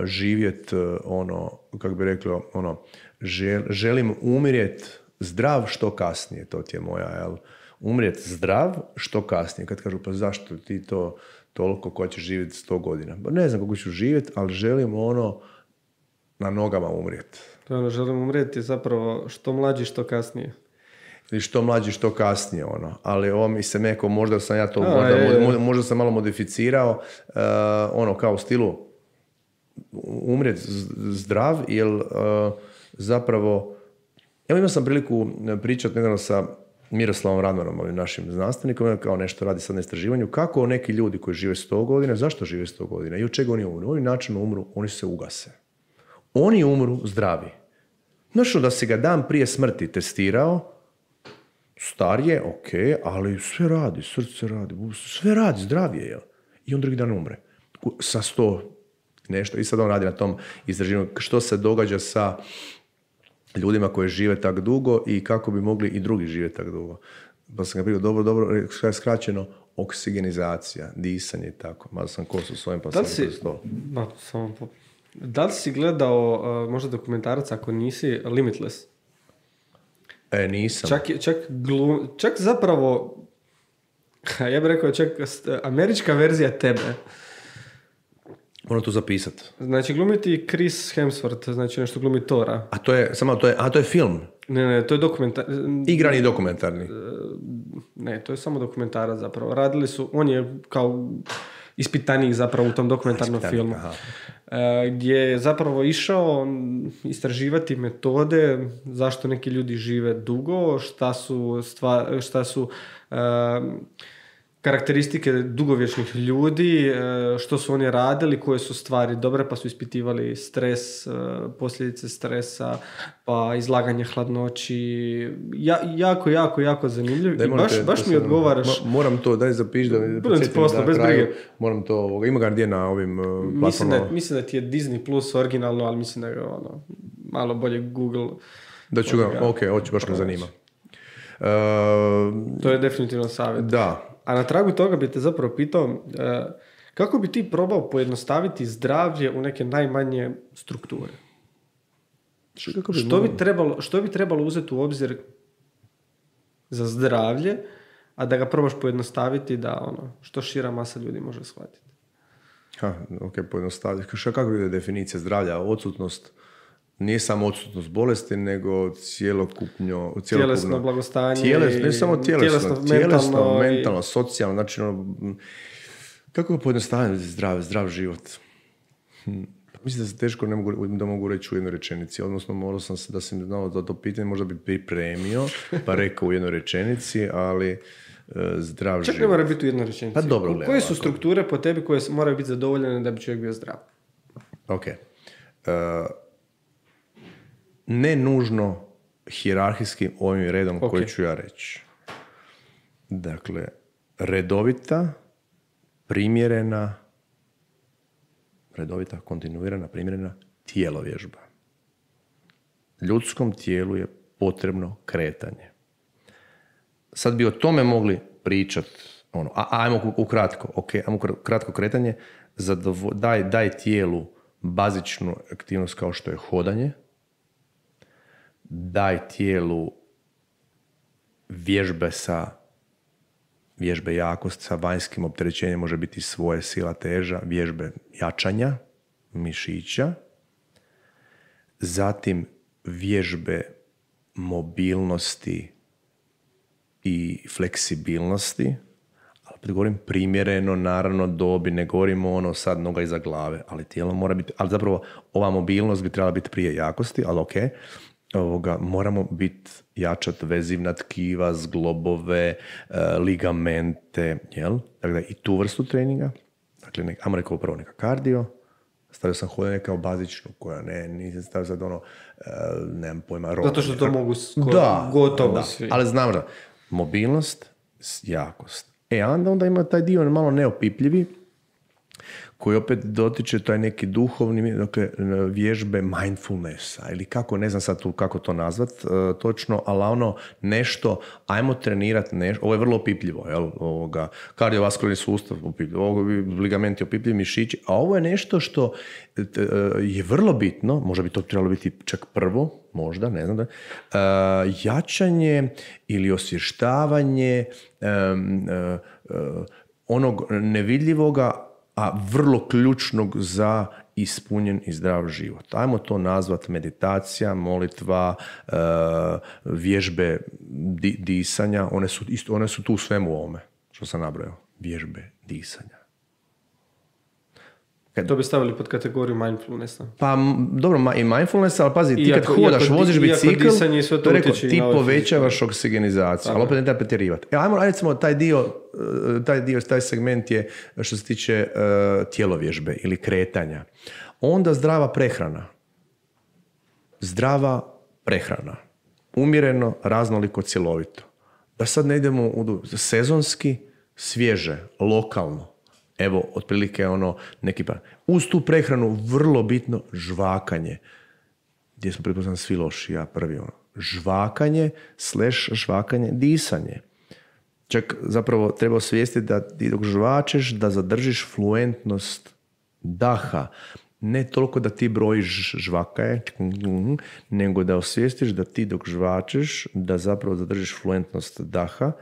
živjeti kako bi reklo, želim umrijeti zdrav što kasnije, to ti je moja, jel? Umrijeti zdrav što kasnije. Kad kažu, pa zašto ti to toliko ko će živjeti 100 godina? Pa ne znam kako ću živjeti, ali želim na nogama umrijeti. Želim umrijeti zapravo što mlađi, što kasnije. Ili što mlađi, što kasnije, Ali ovo mi se neko, možda sam ja to, možda sam malo modificirao, kao u stilu umrijeti zdrav, jer zapravo, evo imao sam priliku pričati nedavno sa Miroslavom Radmanom, ovim našim znanstvenikom, kao nešto radi sad na istraživanju, kako neki ljudi koji žive 100 godina, zašto žive 100 godina i od čega oni umru? Oni načinno umru, oni se ugase. Oni umru zdravi. Znaš, da si ga dan prije smrti testirao, star je, ok, ali sve radi, srce radi, sve radi, zdrav je, jel? I on drugi dan umre. Sa 100 nešto. I sad on radi na tom istraživanju što se događa sa ljudima koji žive tak dugo i kako bi mogli i drugi živjeti tak dugo. Pa sam ga prije dobro, skraćeno, oksigenizacija, disanje i tako. Malo sam kosu s ovim, pa sam kroz to. Da li si gledao možda dokumentarac, ako nisi, Limitless? Nisam. Čak zapravo, ja bih rekao, čak američka verzija tebe. Moram to zapisati. Znači, glumiti Chris Hemsworth, znači nešto glumi Thora. To je film? Ne, to je igrani dokumentarni? Ne, to je samo dokumentarac zapravo. Radili su, on je kao ispitanik zapravo u tom dokumentarnom filmu. Gdje je zapravo išao istraživati metode zašto neki ljudi žive dugo, šta su karakteristike dugovječnih ljudi, što su oni radili, koje su stvari dobre, pa su ispitivali stres, posljedice stresa, pa izlaganje hladnoći. Jako zanimljiv. I baš mi odgovaraš. Moram to, daj zapiši da podsjetim da bez brige. Moram to, ima ga gdje na ovim platformama? Mislim da ti je Disney Plus originalno, ali mislim da je malo bolje Google. Da ću ga, ok, hoću, baš me zanima. To je definitivno savjet. Da. A na tragu toga bi te zapravo pitao, kako bi ti probao pojednostaviti zdravlje u neke najmanje strukture? Što bi trebalo uzeti u obzir za zdravlje, a da ga probaš pojednostaviti da što šira masa ljudi može shvatiti? Ok, pojednostaviti. Kako je definicija zdravlja? Odsutnost nije samo odsutnost bolesti, nego tjelesno blagostanje. Ne samo tjelesno, mentalno, socijalno. Znači, kako je pojednostaviti zdrav život? Mislim da se teško da mogu reći u jednoj rečenici. Odnosno, morao sam da sam znao za to pitanje, možda bi pripremio, pa rekao u jednoj rečenici, ali zdrav život. Čak ne mora biti u jednoj rečenici. Pa dobro, koje su strukture po tebi koje moraju biti zadovoljene da bi čovjek bio zdrav? Ok. Ne nužno hijerarhijskim ovim redom koji ću ja reći. Dakle, redovita, kontinuirana, primjerena tijelovježba. Ljudskom tijelu je potrebno kretanje. Sad bi o tome mogli pričati, ajmo ukratko, ajmo kratko kretanje, daj tijelu bazičnu aktivnost kao što je hodanje, daj tijelu vježbe jakosti sa vanjskim opterećenjem, može biti svoje sila, teža, vježbe jačanja mišića, zatim vježbe mobilnosti i fleksibilnosti, ali govorim primjereno, naravno dobi, ne govorimo sad noga iza glave, ali tijelo mora biti, ali zapravo ova mobilnost bi trebala biti prije jakosti, ali ok, moramo jačati vezivna tkiva, zglobove, ligamente, jel? Dakle, i tu vrstu treninga. Dakle, ajmo rekao prvo neka kardio, stavio sam hodanje kao bazičnu, koja nisam stavio sad nemam pojma, zato što to mogu gotovo svi. Ali znam da, mobilnost, jakost. Onda ima taj dio malo neopipljivi, koji opet dotiče taj neki duhovni, dakle, vježbe mindfulnessa ili kako, ne znam sad tu kako to nazvat točno, ali ono nešto, ajmo trenirati nešto, ovo je vrlo opipljivo, jel, kardiovaskularni sustav opipljivo, ligamenti opipljivi, mišići, a ovo je nešto što je vrlo bitno, možda bi to trebalo biti čak prvo, možda, ne znam da, jačanje ili osvještavanje onog nevidljivoga, a vrlo ključnog za ispunjen i zdrav život. Ajmo to nazvati meditacija, molitva, vježbe disanja, one su tu u svemu ovome, što sam nabrojao. Vježbe disanja. To bi stavili pod kategoriju mindfulnessa. Pa dobro, i mindfulness, ali pazi, ti kad hodaš, voziš bicikl, to rekao, ti povećavaš oksigenizaciju, ali opet ne treba pretjerivati. Ajmo, recimo, taj segment je što se tiče tjelovježbe ili kretanja. Onda zdrava prehrana. Zdrava prehrana. Umjereno, raznoliko, cjelovito. Da sad ne idemo u sezonski, svježe, lokalno. Evo, otprilike neki par. Uz tu prehranu vrlo bitno žvakanje. Gdje smo pretpostavljeni svi loši, ja prvi. Žvakanje, disanje. Čak zapravo treba osvijestiti da ti dok žvačeš, da zadržiš fluentnost daha. Ne toliko da ti brojiš žvakaje, nego da osvijestiš da ti dok žvačeš, da zapravo zadržiš fluentnost daha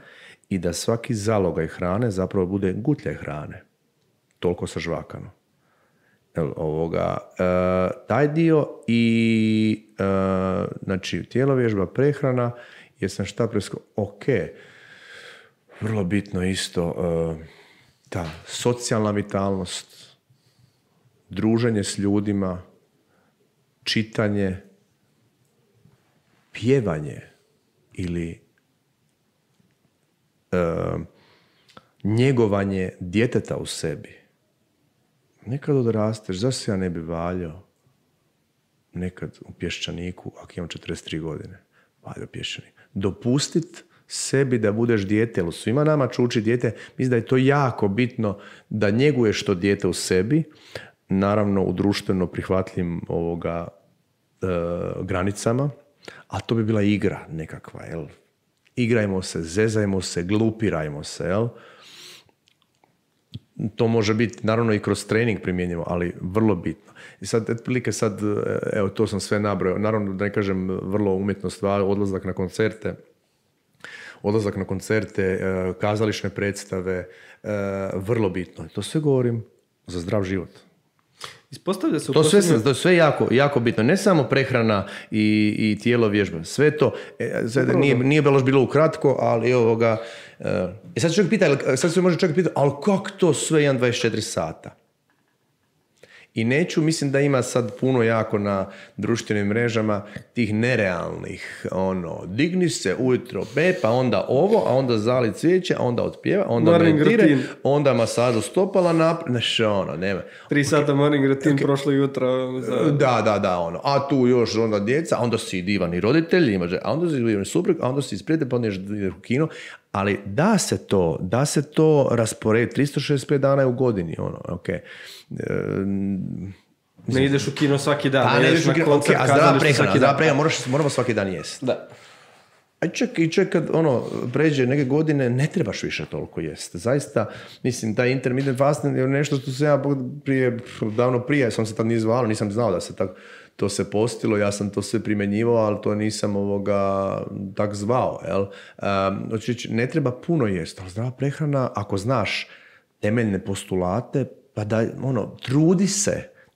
i da svaki zalogaj hrane zapravo bude gutljaj hrane. Toliko sažvakano. Taj dio i znači tjelovježba, prehrana, jesam šta ok, vrlo bitno isto ta socijalna vitalnost, druženje s ljudima, čitanje, pjevanje ili njegovanje djeteta u sebi. Nekad odrasteš, zašto se ja ne bi valjao nekad u Pješčaniku, ako imam 43 godine, valjao Pješčanik. Dopustit sebi da budeš dijete, jer svima nama čuči dijete, mislim da je to jako bitno da njeguješ to dijete u sebi, naravno u društveno prihvatljivim granicama, a to bi bila igra nekakva, jel? Igrajmo se, zezajmo se, glupirajmo se, jel? To može biti, naravno, i kroz trening primjenjivo, ali vrlo bitno. I sad, otprilike sad, evo, to sam sve nabrojao. Naravno, da ne kažem, vrlo umjetno stvar, odlazak na koncerte, kazališne predstave, vrlo bitno. To sve govorim za zdrav život. Ispostavlja se to je sve jako, jako bitno. Ne samo prehrana i tijelo vježba. Sve to, nije bilo ukratko, ali sad se može čovjek pitati, ali kako to sve 1-24 sata? I mislim da ima sad puno jako na društvenim mrežama tih nerealnih, digni se ujutro, pa onda ovo, a onda zali cvijeće, a onda otpjeva, onda meditire, onda masažu stopala nema. 3 sata morning routine prošlo jutro. Da, a tu još onda djeca, a onda si divani roditelj, a onda si divani suprug, a onda si isprijete, pa onda ideš u kino. Ali da se to rasporedi, 365 dana je u godini, okay. Ne ideš u kino svaki dan, ne ideš na koncert, zdrava prehrana, moramo svaki dan jesti. Da. A čak kad pređe neke godine, ne trebaš više toliko jesti. Zaista, mislim, taj intermittent fasting je nešto što sam ja davno prije, sam se tad nije zvalo, nisam znao da se to se postilo, ja sam to sve primjenjivao, ali to nisam tak zvao. Jel? Ne treba puno jesti, ali zdrava prehrana, ako znaš temeljne postulate, pa da,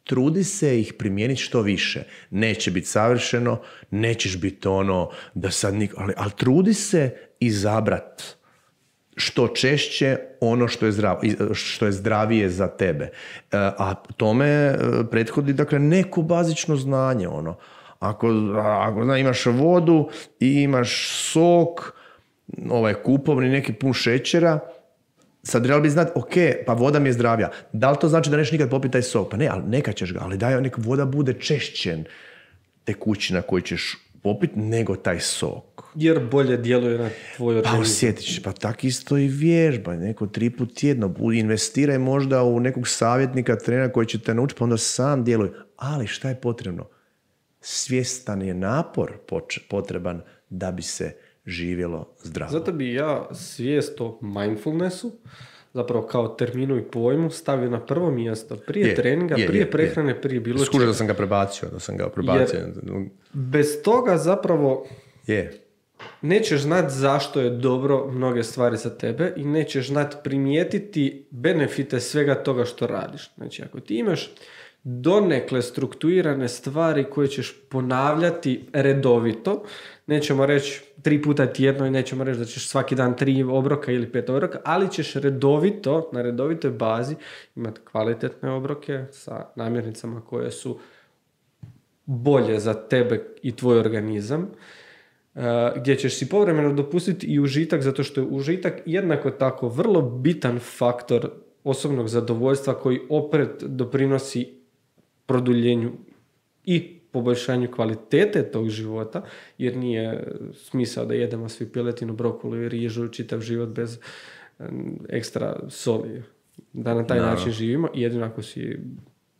trudi se ih primijeniti što više. Neće biti savršeno, nećeš biti da sad ali trudi se izabrat što češće ono što je zdravije za tebe. A tome prethodi, dakle, neko bazično znanje. Ako imaš vodu i imaš sok, kupovni, neki pun šećera, sad trebalo bi znati, ok, pa voda mi je zdravija. Da li to znači da neš nikad popiti taj sok? Pa ne, ali neka ćeš ga, ali daj neka voda bude češćen tekućina koju ćeš popiti nego taj sok. Jer bolje djeluje na tvoj Pa organizam. osjetiš, pa tak isto i vježba, neko 3 put tjedno, investiraj možda u nekog savjetnika, trenera koji će te naučiti, pa onda sam djeluje. Ali šta je potrebno? Svjestan je napor potreban da bi se živjelo zdravo. Zato bi ja svijest o mindfulnessu, zapravo kao terminu i pojmu, stavio na prvo mjesto. Prije treninga, prije prehrane, prije bilo čega. Skužio da sam ga prebacio. Jer bez toga zapravo je. Nećeš znati zašto je dobro mnoge stvari za tebe i nećeš znati primijetiti benefite svega toga što radiš. Znači, ako ti imaš donekle strukturirane stvari koje ćeš ponavljati redovito, nećemo reći 3 puta tjedno i nećemo reći da ćeš svaki dan 3 obroka ili 5 obroka, ali ćeš redovito, na redovitoj bazi imati kvalitetne obroke sa namirnicama koje su bolje za tebe i tvoj organizam, gdje ćeš si povremeno dopustiti i užitak, zato što je užitak jednako tako vrlo bitan faktor osobnog zadovoljstva koji opet doprinosi produljenju i poboljšanju kvalitete tog života, jer nije smisao da jedemo svi piletinu, brokulu i rižu čitav život bez ekstra soli. Da na taj način živimo, jedino ako si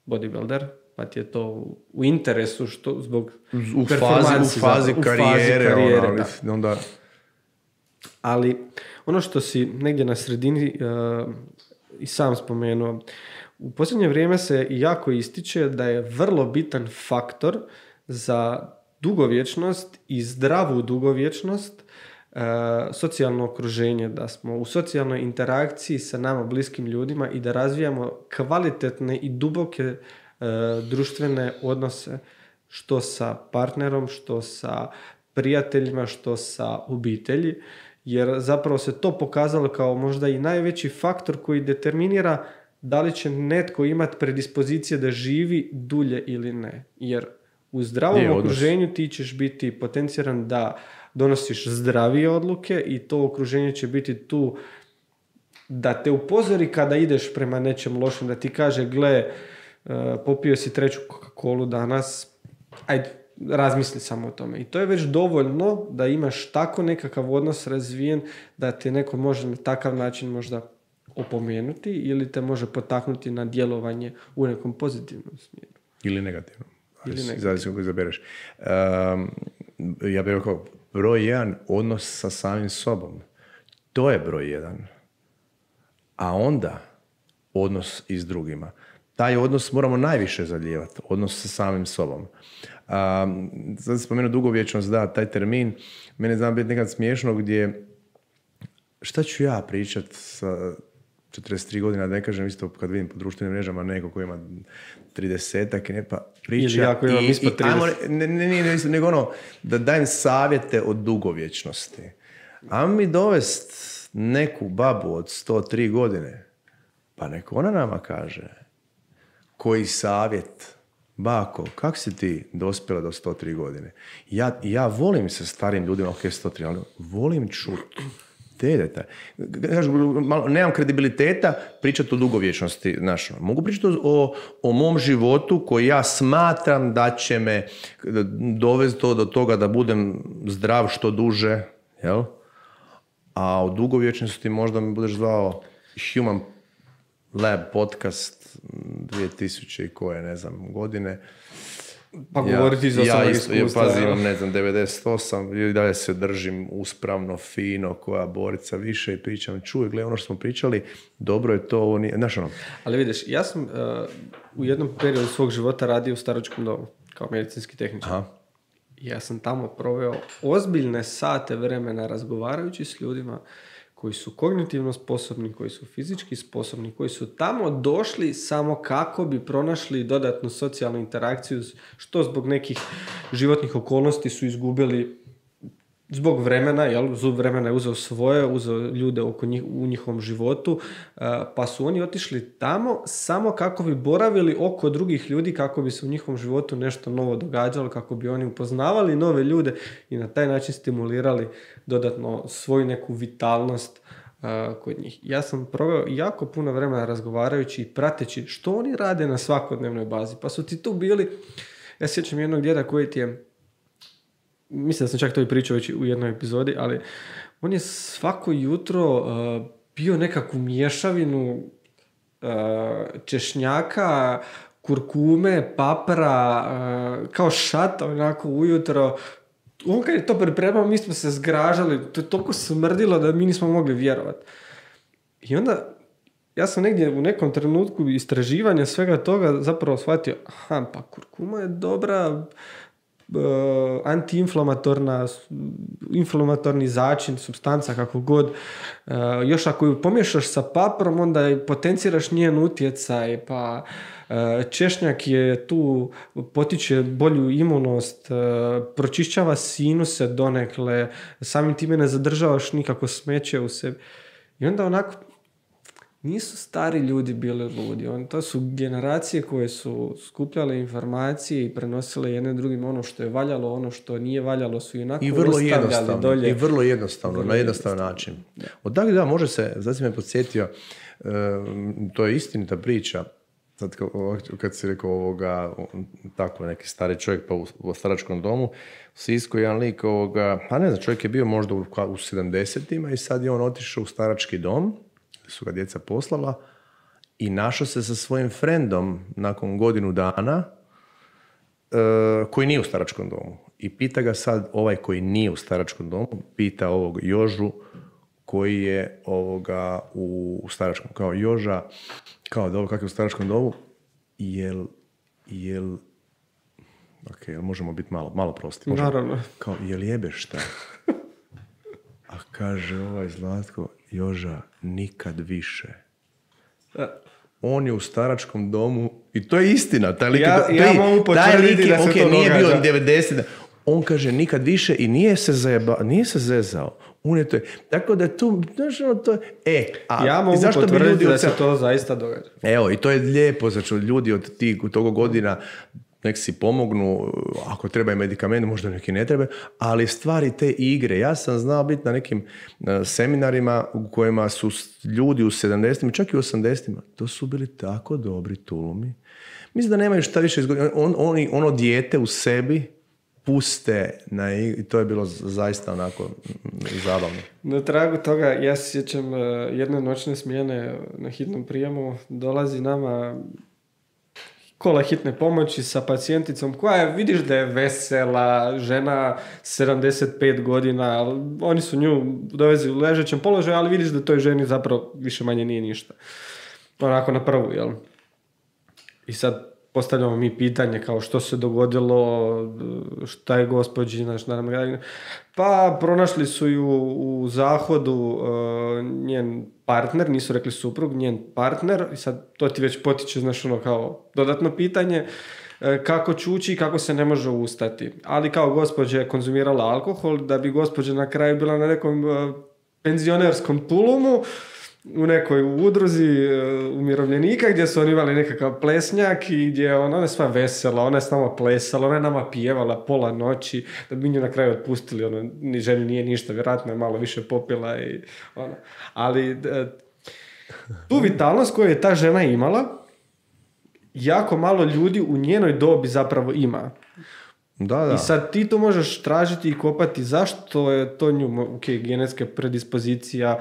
bodybuilder, pa ti je to u interesu što zbog u fazi karijere onda. Ali ono što si negdje na sredini i sam spomenuo, u posljednje vrijeme se jako ističe da je vrlo bitan faktor za dugovječnost i zdravu dugovječnost socijalno okruženje, da smo u socijalnoj interakciji sa nama bliskim ljudima i da razvijamo kvalitetne i duboke društvene odnose, što sa partnerom, što sa prijateljima, što sa obitelji, jer zapravo se to pokazalo kao možda i najveći faktor koji determinira da li će netko imati predispozicije da živi dulje ili ne. Jer u zdravom okruženju ti ćeš biti potenciran da donosiš zdravije odluke i to okruženje će biti tu da te upozori kada ideš prema nečem lošem, da ti kaže gle, popio si 3 Coca-Colu danas, ajde, razmisli samo o tome. I to je već dovoljno da imaš tako nekakav odnos razvijen da te neko može na takav način možda opomenuti ili te može potaknuti na djelovanje u nekom pozitivnom smjeru. Ili negativnom. Zavisi kako izabereš. Ja bih rekao, broj 1, odnos sa samim sobom. To je broj 1. A onda odnos i s drugima. Taj odnos moramo najviše zalijevati, odnos sa samim sobom. Sad spomenuo dugovječnost, da, taj termin, mene zna biti nekad smiješno gdje, šta ću ja pričat sa 43 godina, da ne kažem isto kad vidim po društvenim mrežama neko koji ima 30-ak i ne pa priča. Ili ako imam ispod 30. Nego ono, da dajem savjete o dugovječnosti. Ajmo mi dovest neku babu od 103 godine, pa neko ona nama kaže koji savjet, bako, kako si ti dospjela do 103 godine? Ja volim se starim ljudima, ok, 103, ali volim čuti te detalje. Nemam kredibiliteta pričati o dugovječnosti. Mogu pričati o mom životu koji ja smatram da će me dovesti do toga da budem zdrav što duže, jel? A o dugovječnosti možda mi budeš zvao Human Lab podcast 2000 i koje, ne znam, godine. Pa govoriti za samo iskustva. Ja pazim, ne znam, 98 i dalje se držim uspravno, fino, koja borica više i pričam, čuj, gle, ono što smo pričali, dobro je to, ovo nije, znaš ono. Ali vidiš, ja sam u jednom periodu svog života radio u staračkom domu, kao medicinski tehničar. Aha. Ja sam tamo proveo ozbiljne sate vremena razgovarajući s ljudima koji su kognitivno sposobni, koji su fizički sposobni, koji su tamo došli samo kako bi pronašli dodatnu socijalnu interakciju, što zbog nekih životnih okolnosti su izgubili zbog vremena, jel? Zub vremena je uzeo svoje, uzeo ljude oko njih, u njihovom životu, pa su oni otišli tamo samo kako bi boravili oko drugih ljudi, kako bi se u njihovom životu nešto novo događalo, kako bi oni upoznavali nove ljude i na taj način stimulirali dodatno svoju neku vitalnost kod njih. Ja sam proveo jako puno vremena razgovarajući i prateći što oni rade na svakodnevnoj bazi. Pa su ti tu bili, ja sjećam jednog djeda koji ti je mislim da sam čak to i pričao već u jednoj epizodi, ali on je svako jutro bio nekakvu mješavinu češnjaka, kurkume, papra, kao šata onako ujutro. On kad je to pripremao, mi smo se zgražali, to je toliko smrdilo da mi nismo mogli vjerovati. I onda ja sam negdje u nekom trenutku istraživanja svega toga zapravo shvatio, aha, pa kurkuma je dobra antiinflamatorni začin, supstanca, kako god. Još ako ju pomiješaš sa paprom, onda potenciraš njen utjecaj, pa češnjak je tu, potiče bolju imunost, pročišćava sinuse donekle, samim time ne zadržavaš nikako smeće u sebi. I onda onako, nisu stari ljudi bili ludi. To su generacije koje su skupljale informacije i prenosile jedne drugim ono što je valjalo, ono što nije valjalo su onako ostavljali dolje. I vrlo jednostavno, na jednostavan način. Odakle da, može se, znači si me podsjetio, to je istinita priča, sad kad si rekao ovoga, tako neki stari čovjek pa u staračkom domu, u Sisku jedan lik a ne znam, čovjek je bio možda u 70-ima i sad je on otišao u starački dom, su ga djeca poslala i našao se sa svojim frendom nakon godinu dana koji nije u staračkom domu. I pita ga sad ovaj koji nije u staračkom domu, pita ovog Jožu koji je u staračkom. Kao Joža, kao dobro, kako je u staračkom domu, jel možemo biti malo prosti. Naravno. Kao, jel jebeš šta? A kaže ovaj Zlatko, Joža, nikad više. On je u staračkom domu i to je istina. Taj lik, ja mogu potvrditi da se to nije događa. Bio 90. On kaže nikad više i nije se zezao. On je to. Tako da tu, znaš, to je... ja mogu potvrditi da se to zaista događa. Evo, i to je lijepo, znači ljudi od tog godina nek si pomognu, ako treba i medikament, možda neki ne treba, ali stvari te igre. Ja sam znao biti na nekim seminarima u kojima su ljudi u 70-ima, čak i u 80-ima, to su bili tako dobri tulumi. Mislim da nemaju šta više izgoditi. Ono dijete u sebi puste na igri i to je bilo zaista onako zabavno. Na tragu toga, ja se sjećam jedne noćne smjene na hitnom prijemu, dolazi nama kola hitne pomoći sa pacijenticom koja je, vidiš da je vesela, žena 75 godina, oni su nju dovezi u ležećem položaju, ali vidiš da toj ženi zapravo više manje nije ništa. Onako na prvu, jel? I sad postavljamo mi pitanje kao što se dogodilo, šta je gospođina, pa pronašli su ju u zahodu njen partner, nisu rekli suprug, njen partner, i sad to ti već potiče, znaš, ono kao dodatno pitanje, kako čuči i kako se ne može ustati. Ali kao gospođa je konzumirala alkohol, da bi gospođa na kraju bila na nekom penzionerskom tulumu, u nekoj udruzi umirovljenika gdje su oni imali nekakav plesnjak i gdje ona je sva vesela, ona je s nama plesala, ona je nama pjevala pola noći, da bi nju na kraju otpustili, ni ženi nije ništa, vjerojatno je malo više popila i ono. Ali tu vitalnost koju je ta žena imala, jako malo ljudi u njenoj dobi zapravo ima. Da. I sad ti to možeš tražiti i kopati zašto je to nju, genetska predispozicija,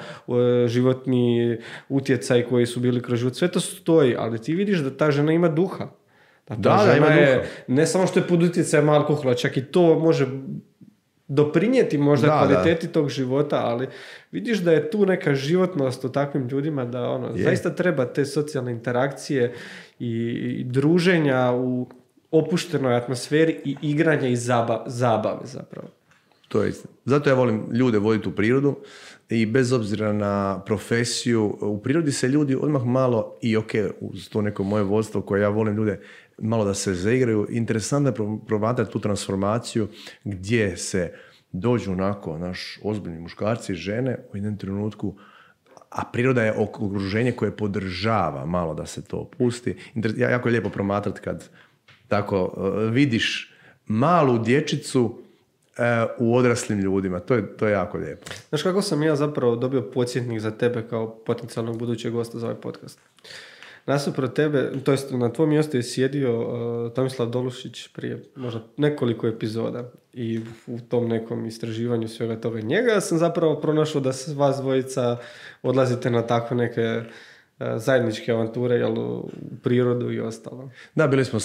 životni utjecaj koji su bili kroz život, sve to stoji, ali ti vidiš da ta žena ima duha. Da, žena je, ne samo što je pod utjecajem alkohola, čak i to može doprinijeti možda kvaliteti tog života, ali vidiš da je tu neka životnost u takvim ljudima, da zaista treba te socijalne interakcije i druženja u opuštenoj atmosferi i igranja i zabave zapravo. To je istina. Zato ja volim ljude voditi u prirodu i bez obzira na profesiju, u prirodi se ljudi odmah malo i uz to neko moje vodstvo koje ja volim ljude malo da se zaigraju. Interesantno je promatrati tu transformaciju gdje se dođu onako naš ozbiljni muškarci i žene u jednom trenutku, a priroda je okruženje koje podržava malo da se to pusti. Jako je lijepo promatrati kad tako vidiš malu dječicu u odraslim ljudima. To je jako lijepo. Znaš kako sam ja zapravo dobio podsjetnik za tebe kao potencijalnog budućeg gosta za ovaj podcast? nasuprot tebe, to jest na tvom mjestu je sjedio Tomislav Dolušić prije možda nekoliko epizoda i u tom nekom istraživanju svega toga njega sam zapravo pronašao da se vas dvojica odlazite na takve neke zajedničke avanture, jel, u prirodu i ostalo. Da, bili smo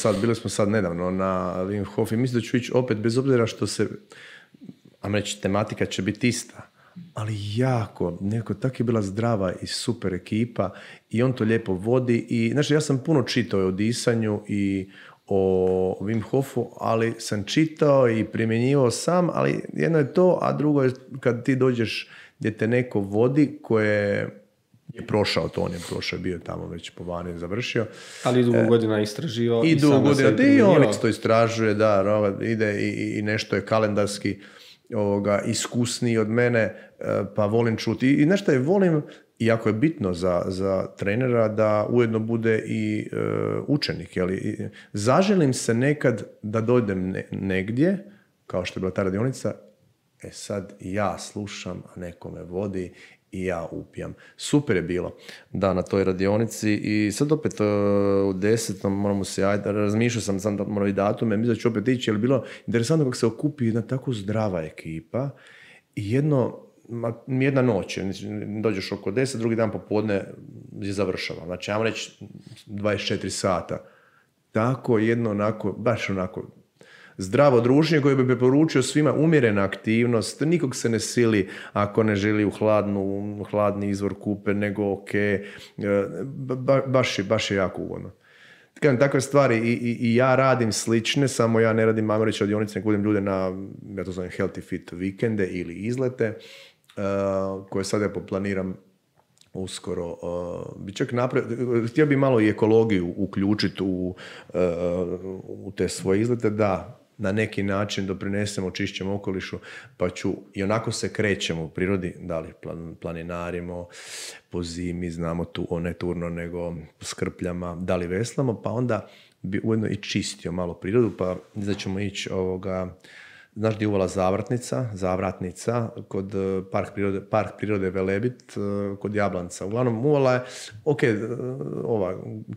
sad nedavno na Wim Hof i mislim da ću ići opet, bez obzira što se, reći, tematika će biti ista, ali jako, nekako tako je bila zdrava i super ekipa i on to lijepo vodi i, znači, ja sam puno čitao o disanju i o Wim Hofu, ali sam čitao i primjenjivao sam, ali jedno je to, a drugo je kad ti dođeš gdje te neko vodi koje je prošao to, on je prošao, bio tamo već po vani završio. Ali dugo godina istraživao. I dugo godina, i on to istražuje, da, ide i nešto je kalendarski iskusniji od mene, pa volim čuti. I nešto je volim, iako je bitno za trenera, da ujedno bude i učenik. Jeli? Zaželim se nekad da dojdem negdje, kao što je bila ta radionica, sad ja slušam, a neko me vodi i ja upijam. Super je bilo da na toj radionici i sad opet u 10. moramo se javiti, razmišljao sam da moram i datume, mislim da ću opet ići, jer je bilo interesantno kako se okupi jedna tako zdrava ekipa i jedna noć, dođeš oko 10, drugi dan popodne je završava. Znači, ja vam reći 24 sata. Tako jedno baš onako zdravo druženje koje bi preporučio svima, umjerena aktivnost, nikog se ne sili ako ne želi u hladni izvor kupe, nego ok, baš je jako ugodno. Takve stvari i ja radim slične, samo ja ne radim, ajmo reći, radionice, nego budem ljude na, ja to zovem healthy fit vikende ili izlete, koje sad ja poplaniram uskoro. Bi čak htio bi malo i ekologiju uključiti u te svoje izlete, da na neki način doprinesemo čišćem okolišu, pa i onako se krećemo u prirodi, da li planinarimo po zimi, znamo tu ne turno nego po skrpljama, da li veslamo, pa onda bi ujedno i čistio malo prirodu, pa da ćemo ići znaš gdje je uvala Zavratnica, kod park prirode Velebit, kod Jablanca. Uglavnom, uvala je,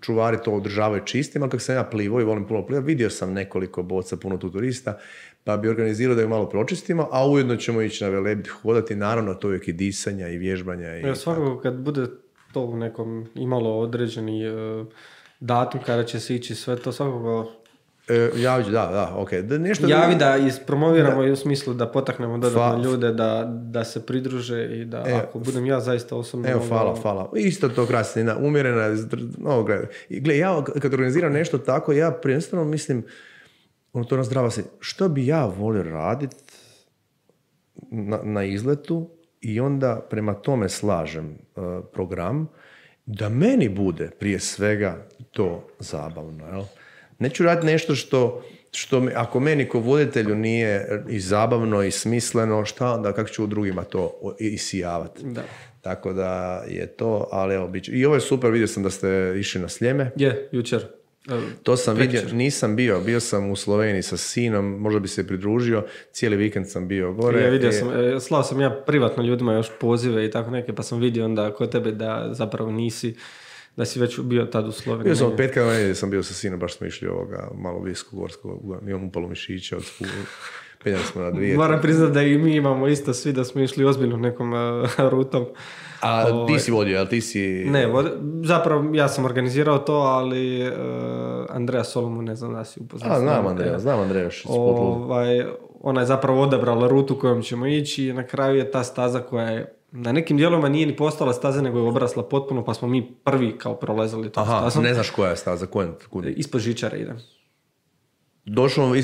čuvari to održavaju čistim, ali kako sam ja plivao i volim puno plivati, vidio sam nekoliko boca, puno tu turista, pa bi organizirao da ju malo pročistimo, a ujedno ćemo ići na Velebit hodati, naravno to je i disanja i vježbanja. Svakako kad bude to u nekom imalo određeni datum kada će se ići sve to, svakako javi da ispromoviramo i u smislu da potaknemo dodatno ljude da se pridruže i da ako budem ja zaista osobno... Hvala. Isto to krasnina, umjerena, gle, ja kad organiziram nešto tako, ja prvenstveno mislim, to nazdrava se, što bi ja volio raditi na izletu i onda prema tome slažem program, da meni bude prije svega to zabavno, jel? Neću raditi nešto što ako meni ko voditelju nije i zabavno i smisleno, šta onda, kako ću u drugima to isijavati. Da. Tako da je to, ali evo, bit će. I ovo je super, vidio sam da ste išli na Sljeme. Jučer. To sam vidio, nisam bio sam u Sloveniji sa sinom, možda bi se pridružio, cijeli vikend sam bio gore. Ja vidio sam, slao sam ja privatno ljudima još pozive i tako neke, pa sam vidio onda kod tebe da zapravo nisi, da si već bio tad u Sloveniji. Bio sam petka na nedjelju, sam bio sa sinom, baš smo išli malo Visko-Gorsko, imam upalo mišića, penjali smo na 2. Moram priznati da i mi imamo isto svi da smo išli ozbiljno nekom rutom. A ti si vodio, ali ti si... Ne, zapravo ja sam organizirao to, ali Andreja Solomu ne znam da si upoznao. Znam Andreja još. Ona je zapravo odabrala rutu kojom ćemo ići i na kraju je ta staza koja je na nekim dijelovima nije ni postala staza, nego je obrasla potpuno, pa smo mi prvi kao prolazili to stazom. Ne znaš koja je staza, ispod žičare ide.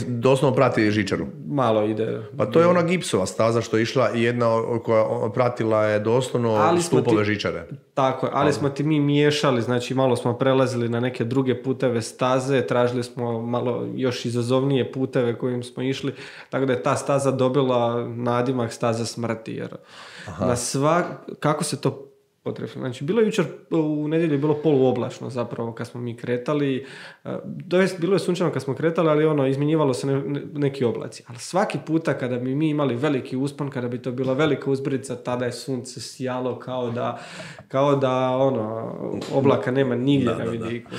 Doslovno prati žičaru. Malo ide. Pa to je ona gipsova staza što je išla i jedna koja pratila je doslovno stupove žičare. Tako je, ali smo ti mi miješali, znači malo smo prelazili na neke druge puteve staze, tražili smo malo još izazovnije puteve kojim smo išli, tako da je ta staza dobila nadimak staza smrti, jer kako se to potrefno. Znači, bilo je jučer u nedjelju je bilo poluoblačno zapravo kad smo mi kretali. Bilo je sunčano kad smo kretali, ali izmjenjivalo se neki oblaci. Ali svaki puta kada bi mi imali veliki uspon, kada bi to bila velika uzbrica, tada je sunce sjalo kao da oblaka nema nigdje na vidiku.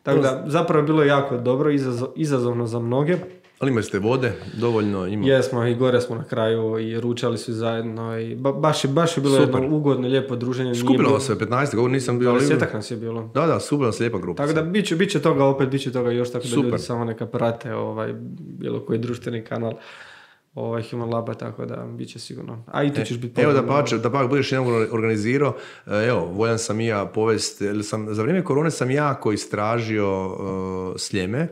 Tako da zapravo je bilo jako dobro, izazovno za mnoge. Ali imali ste vode, dovoljno ima. Jesmo, i gore smo na kraju i ručali su zajedno i baš je bilo super. Jedno ugodno, lijepo druženje. Skupilo vas se 15, govor nisam bio. 20 nas je bilo. Da, super nas lijepa grupa. Tako da bit će toga opet, bit će toga još, tako da ljudi samo neka prate bilo koji društveni kanal Human Laba, tako da bit će sigurno. A i tu ćeš biti evo da pak budeš jednom organizirao, evo, voljan sam i ja povest, za vrijeme korone sam jako istražio Sljeme,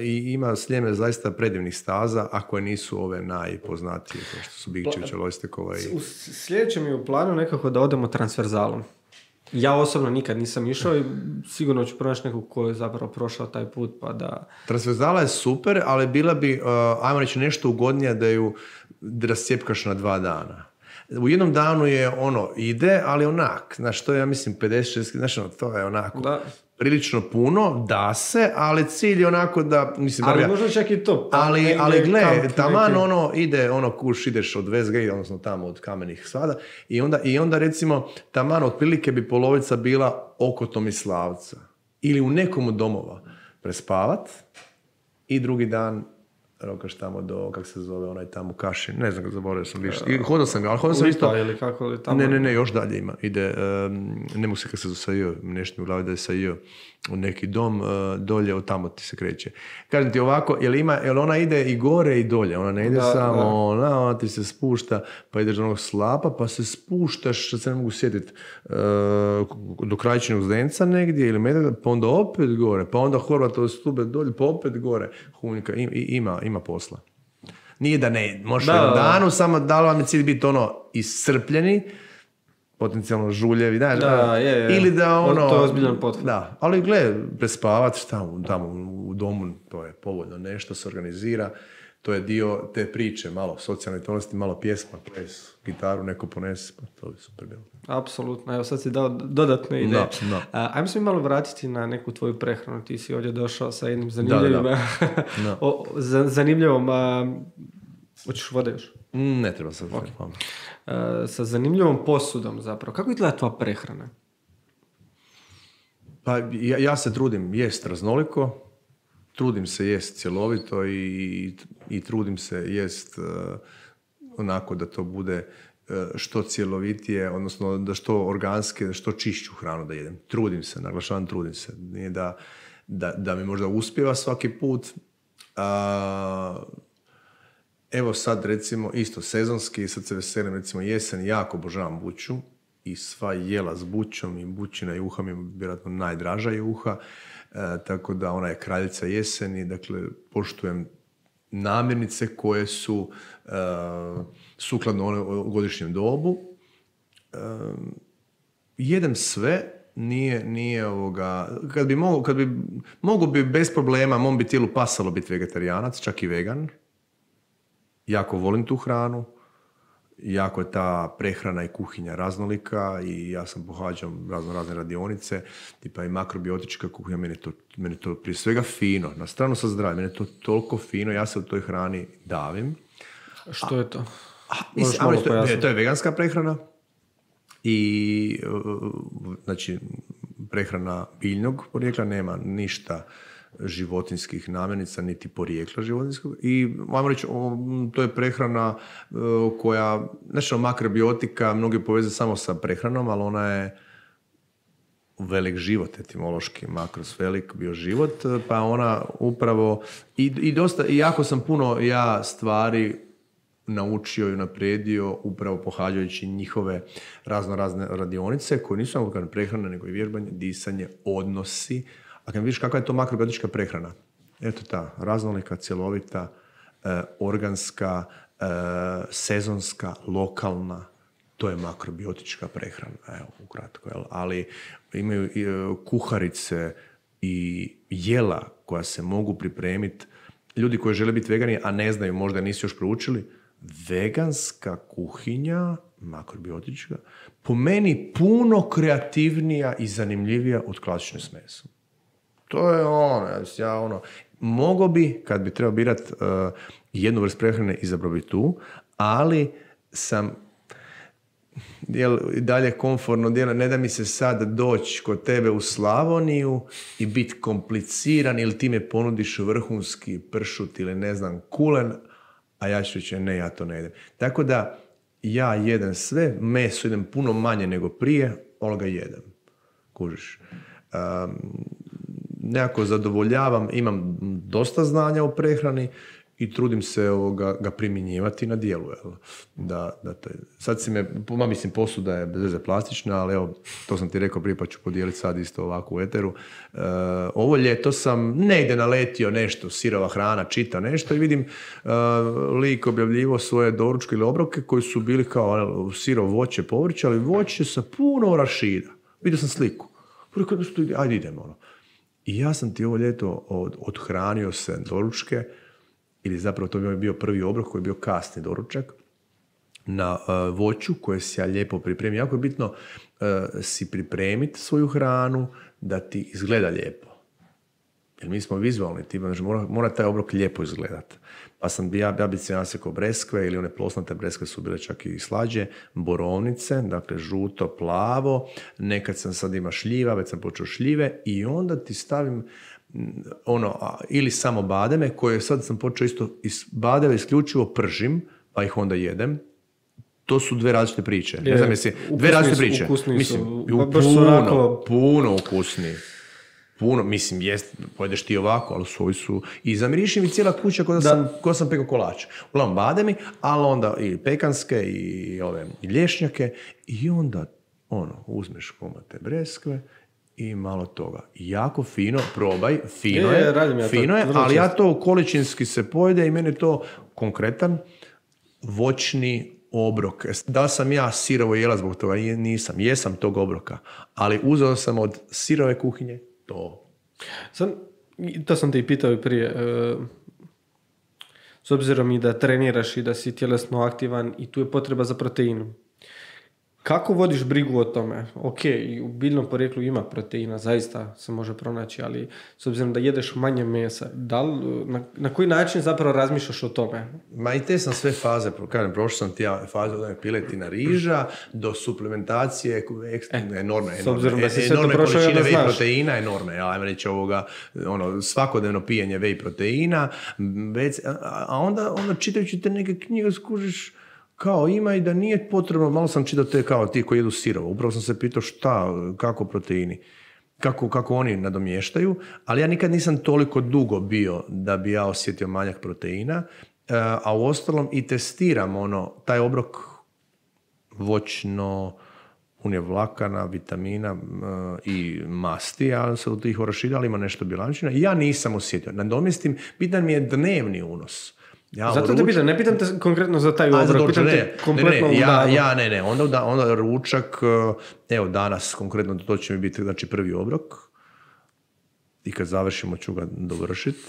i ima Sljeme zaista predivnih staza, a koje nisu ove najpoznatije, kao što su Bigčevića, Lojstekova i... U sljedećem je u planu nekako da odemo transverzalom. Ja osobno nikad nisam išao i sigurno ću pronaći nekog ko je zapravo prošao taj put, pa da... Transverzala je super, ali bila bi, ajmo reći, nešto ugodnije da ju rascijepkaš na 2 dana. U jednom danu je ide, ali onak, znaš, to je, ja mislim, 50-60, znaš, to je onako... Da. Prilično puno, da se, ali cilj je onako da... Mislim, ali možda čak i to. Ali gle, taman ide, kuš, ideš od Westgate, odnosno tamo od Kamenih svada, i onda recimo, taman otprilike bi polovica bila oko Tomislavca. Ili u nekom od domova prespavat i drugi dan rokaš tamo do, kak se zove, onaj tamo Kašin, ne znam, zaboravio sam više. Hodao sam ga, ali hodao sam isto... ili kako li tamo... Ne, još dalje ima. Ide, ne mogu se kako se zove sa J, nešto mi u glavi da je sa J, u neki dom, dolje, od tamo ti se kreće. Kažem ti ovako, jel ona ide i gore i dolje, ona ne ide ona ti se spušta, pa ideš do onog slapa, pa se spuštaš, što se ne mogu sjetiti, do Krajčinog Zdenca negdje, ili Medveda, pa onda opet gore, pa onda Horvatove Stube dolje, pa opet gore. Hunjka, ima posla. Nije da ne, možeš u danu, samo da li vam je cilj biti iscrpljeni, potencijalno žuljevi, je. Ili da to je ozbiljan pothvat. Da, ali gle, prespavat tamo u domu, to je povoljno, nešto se organizira, to je dio te priče, malo socijalne tonosti, malo pjesma, ples, gitaru, neko ponese, pa to bi super bilo. Apsolutno, evo sad si dao dodatne ideje. Ajmo se mi malo vratiti na neku tvoju prehranu, ti si ovdje došao sa jednim zanimljivom, hoćeš vode još? Ne treba sad. Sa zanimljivom posudom zapravo. Kako izgleda tvoja prehrana? Pa ja se trudim jest raznoliko, trudim se jest cjelovito i trudim se jest onako da to bude što cjelovitije, odnosno da što organske, da što čišću hranu da jedem. Trudim se, naglašavam, trudim se. Nije da mi možda uspijeva svaki put. Evo sad recimo isto sezonski, sad se veselim, recimo jesen, jako obožavam buću i sva jela s bućom i bućina juha mi je vjerojatno najdraža juha, tako da ona je kraljica jeseni, dakle poštujem namirnice koje su sukladno godišnjem dobu. Jedem sve, nije kad bi mogu bi bez problema, mom bi tijelu pasalo biti vegetarijanac, čak i vegan. Jako volim tu hranu, jako je ta prehrana i kuhinja raznolika i ja sam pohađao razne radionice, tipa i makrobiotička kuhinja, meni je to prije svega fino, na stranu sa zdravljem, meni je to toliko fino, ja se u toj hrani davim. Što je to? To je veganska prehrana i znači prehrana biljnog porijekla, nema ništa životinskih namirnica, niti porijekla životinskog. I, ajmo reći, to je prehrana koja, znači, makrobiotika, mnogi povezuju samo sa prehranom, ali ona je velik život, etimološki, makros velik, bio život, pa ona upravo, i jako sam puno stvari naučio i unaprijedio upravo pohađajući njihove razne radionice, koje nisu samo prehrana, nego i vježbanje, disanje, odnosi. A kad vidiš kakva je to makrobiotička prehrana, eto ta raznolika, cjelovita, organska, sezonska, lokalna, to je makrobiotička prehrana, evo, ukratko. Ali imaju kuharice i jela koja se mogu pripremiti. Ljudi koji žele biti vegani, a ne znaju, možda nisu još proučili, veganska kuhinja makrobiotička, po meni puno kreativnija i zanimljivija od klasične s mesom. To je mogao bi, kad bi trebao birat jednu vrst prehrane, izabrao bi tu, ali sam dalje komfortno djelo, ne da mi se sad doći kod tebe u Slavoniju i biti kompliciran ili ti me ponudiš vrhunski pršut ili ne znam kulen, a ja ću reći ne, ja to ne jedem. Tako da ja jedem sve, meso idem puno manje nego prije, ali ga jedem. Kužiš. Nekako zadovoljavam, imam dosta znanja o prehrani i trudim se ga primjenjivati na dijelu. Sad si me, mislim, posuda je bez veze plastična, ali evo, to sam ti rekao prije, pa ću podijeliti sad isto ovako u eteru. Ovo ljeto sam negdje naletio nešto, sirova hrana, čita nešto i vidim lik objavljivo svoje doručke ili obroke koji su bili kao sirovo voće, povrće, ali voće sa puno arašida. Vidio sam sliku. Ajde idemo. I ja sam ti ovo ljeto odhranio se doručke, ili zapravo to bi bio prvi obrok koji je bio kasni doručak, na voću koje si ja lijepo pripremim. Jako je bitno si pripremiti svoju hranu da ti izgleda lijepo. Jer mi smo vizualni, znači mora taj obrok lijepo izgledati. Pa sam ja bi se nasekao breskve ili one plosnate breskve su bile čak i slađe, borovnice, dakle žuto, plavo, nekad sam sad ima šljiva, već sam počeo šljive i onda ti stavim ili samo bademe koje sad sam počeo isto badeve isključivo pržim, pa ih onda jedem. To su dve različite priče. Ne znam jesi, dve različite priče. Ukusni mislim, puno ukusniji. Puno, mislim, pojedeš ti ovako, ali svoji su... I zamiriši mi cijela kuća ko sam pekao kolač. Uglavnom bademi, ali onda i pekanske i lješnjake i onda uzmeš komate breskve i malo toga. Jako fino, probaj, fino je, ali ja to količinski se pojede i meni to konkretan voćni obrok. Da sam ja sirovo jela zbog toga? Nisam. Jesam tog obroka. Ali uzeo sam od sirove kuhinje to. To sam te i pitao i prije. S obzirom i da treniraš i da si tjelesno aktivan i tu je potreba za proteinom. Kako vodiš brigu o tome? Ok, u biljnom porijeklu ima proteina, zaista se može pronaći, ali s obzirom da jedeš manje mesa, na koji način zapravo razmišljaš o tome? Ma i te sam sve faze, prošao sam ti faze od piletina riža do suplementacije enormne količine whey proteina, enormne. Ja reći svakodnevno pijenje whey proteina, a onda čitajući te neke knjige skužiš kao ima i da nije potrebno, malo sam čitao te kao ti koji jedu sirovo. Upravo sam se pitao kako proteini, kako oni nadomještaju, ali ja nikad nisam toliko dugo bio da bi ja osjetio manjak proteina, a u ostalom i testiram taj obrok voćno, punje vlakana, vitamina i masti, ali se od tih orašida, ali ima nešto bilančina. Ja nisam osjetio. Nadomjestim, bitan mi je dnevni unos. Zato te pitam, ne pitam te konkretno za taj obrok, pitam te kompletno ne. Onda ručak, evo danas konkretno to će mi biti prvi obrok i kad završimo ću ga dovršiti.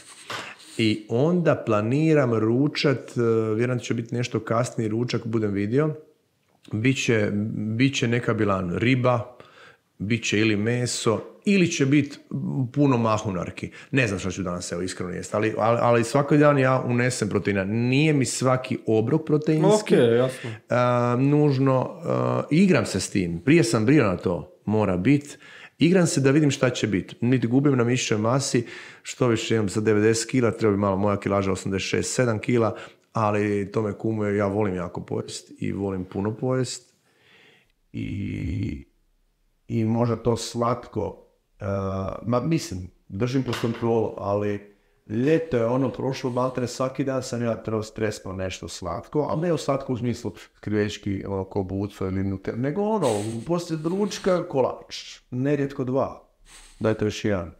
I onda planiram ručat, vjerojatno će biti nešto kasniji ručak, budem vidio, bit će neka bilan riba, bit će ili meso, ili će biti puno mahunarki. Ne znam što ću danas iskreno jesti, ali svaki dan ja unesem proteina. Nije mi svaki obrok proteinski. Ok, jasno. Nužno. Igram se s tim. Prije sam brio na to. Mora biti. Igram se da vidim šta će biti. Niti gubim na mišićnoj masi. Što više imam sa 90 kila, treba bi malo moja kilaža 86-7 kila, ali to me kumuje. Ja volim jako pojest i volim puno pojest. I možda to slatko, mislim, držim pod kontrolu, ali ljeto je prošlo, maltene svaki dan sam ja trebao stresno nešto slatko, ali ne u slatko u smislu krivečki, kobuco ili nutel, nego poslije ručka kolač, nerijetko 2, dajte još jedan,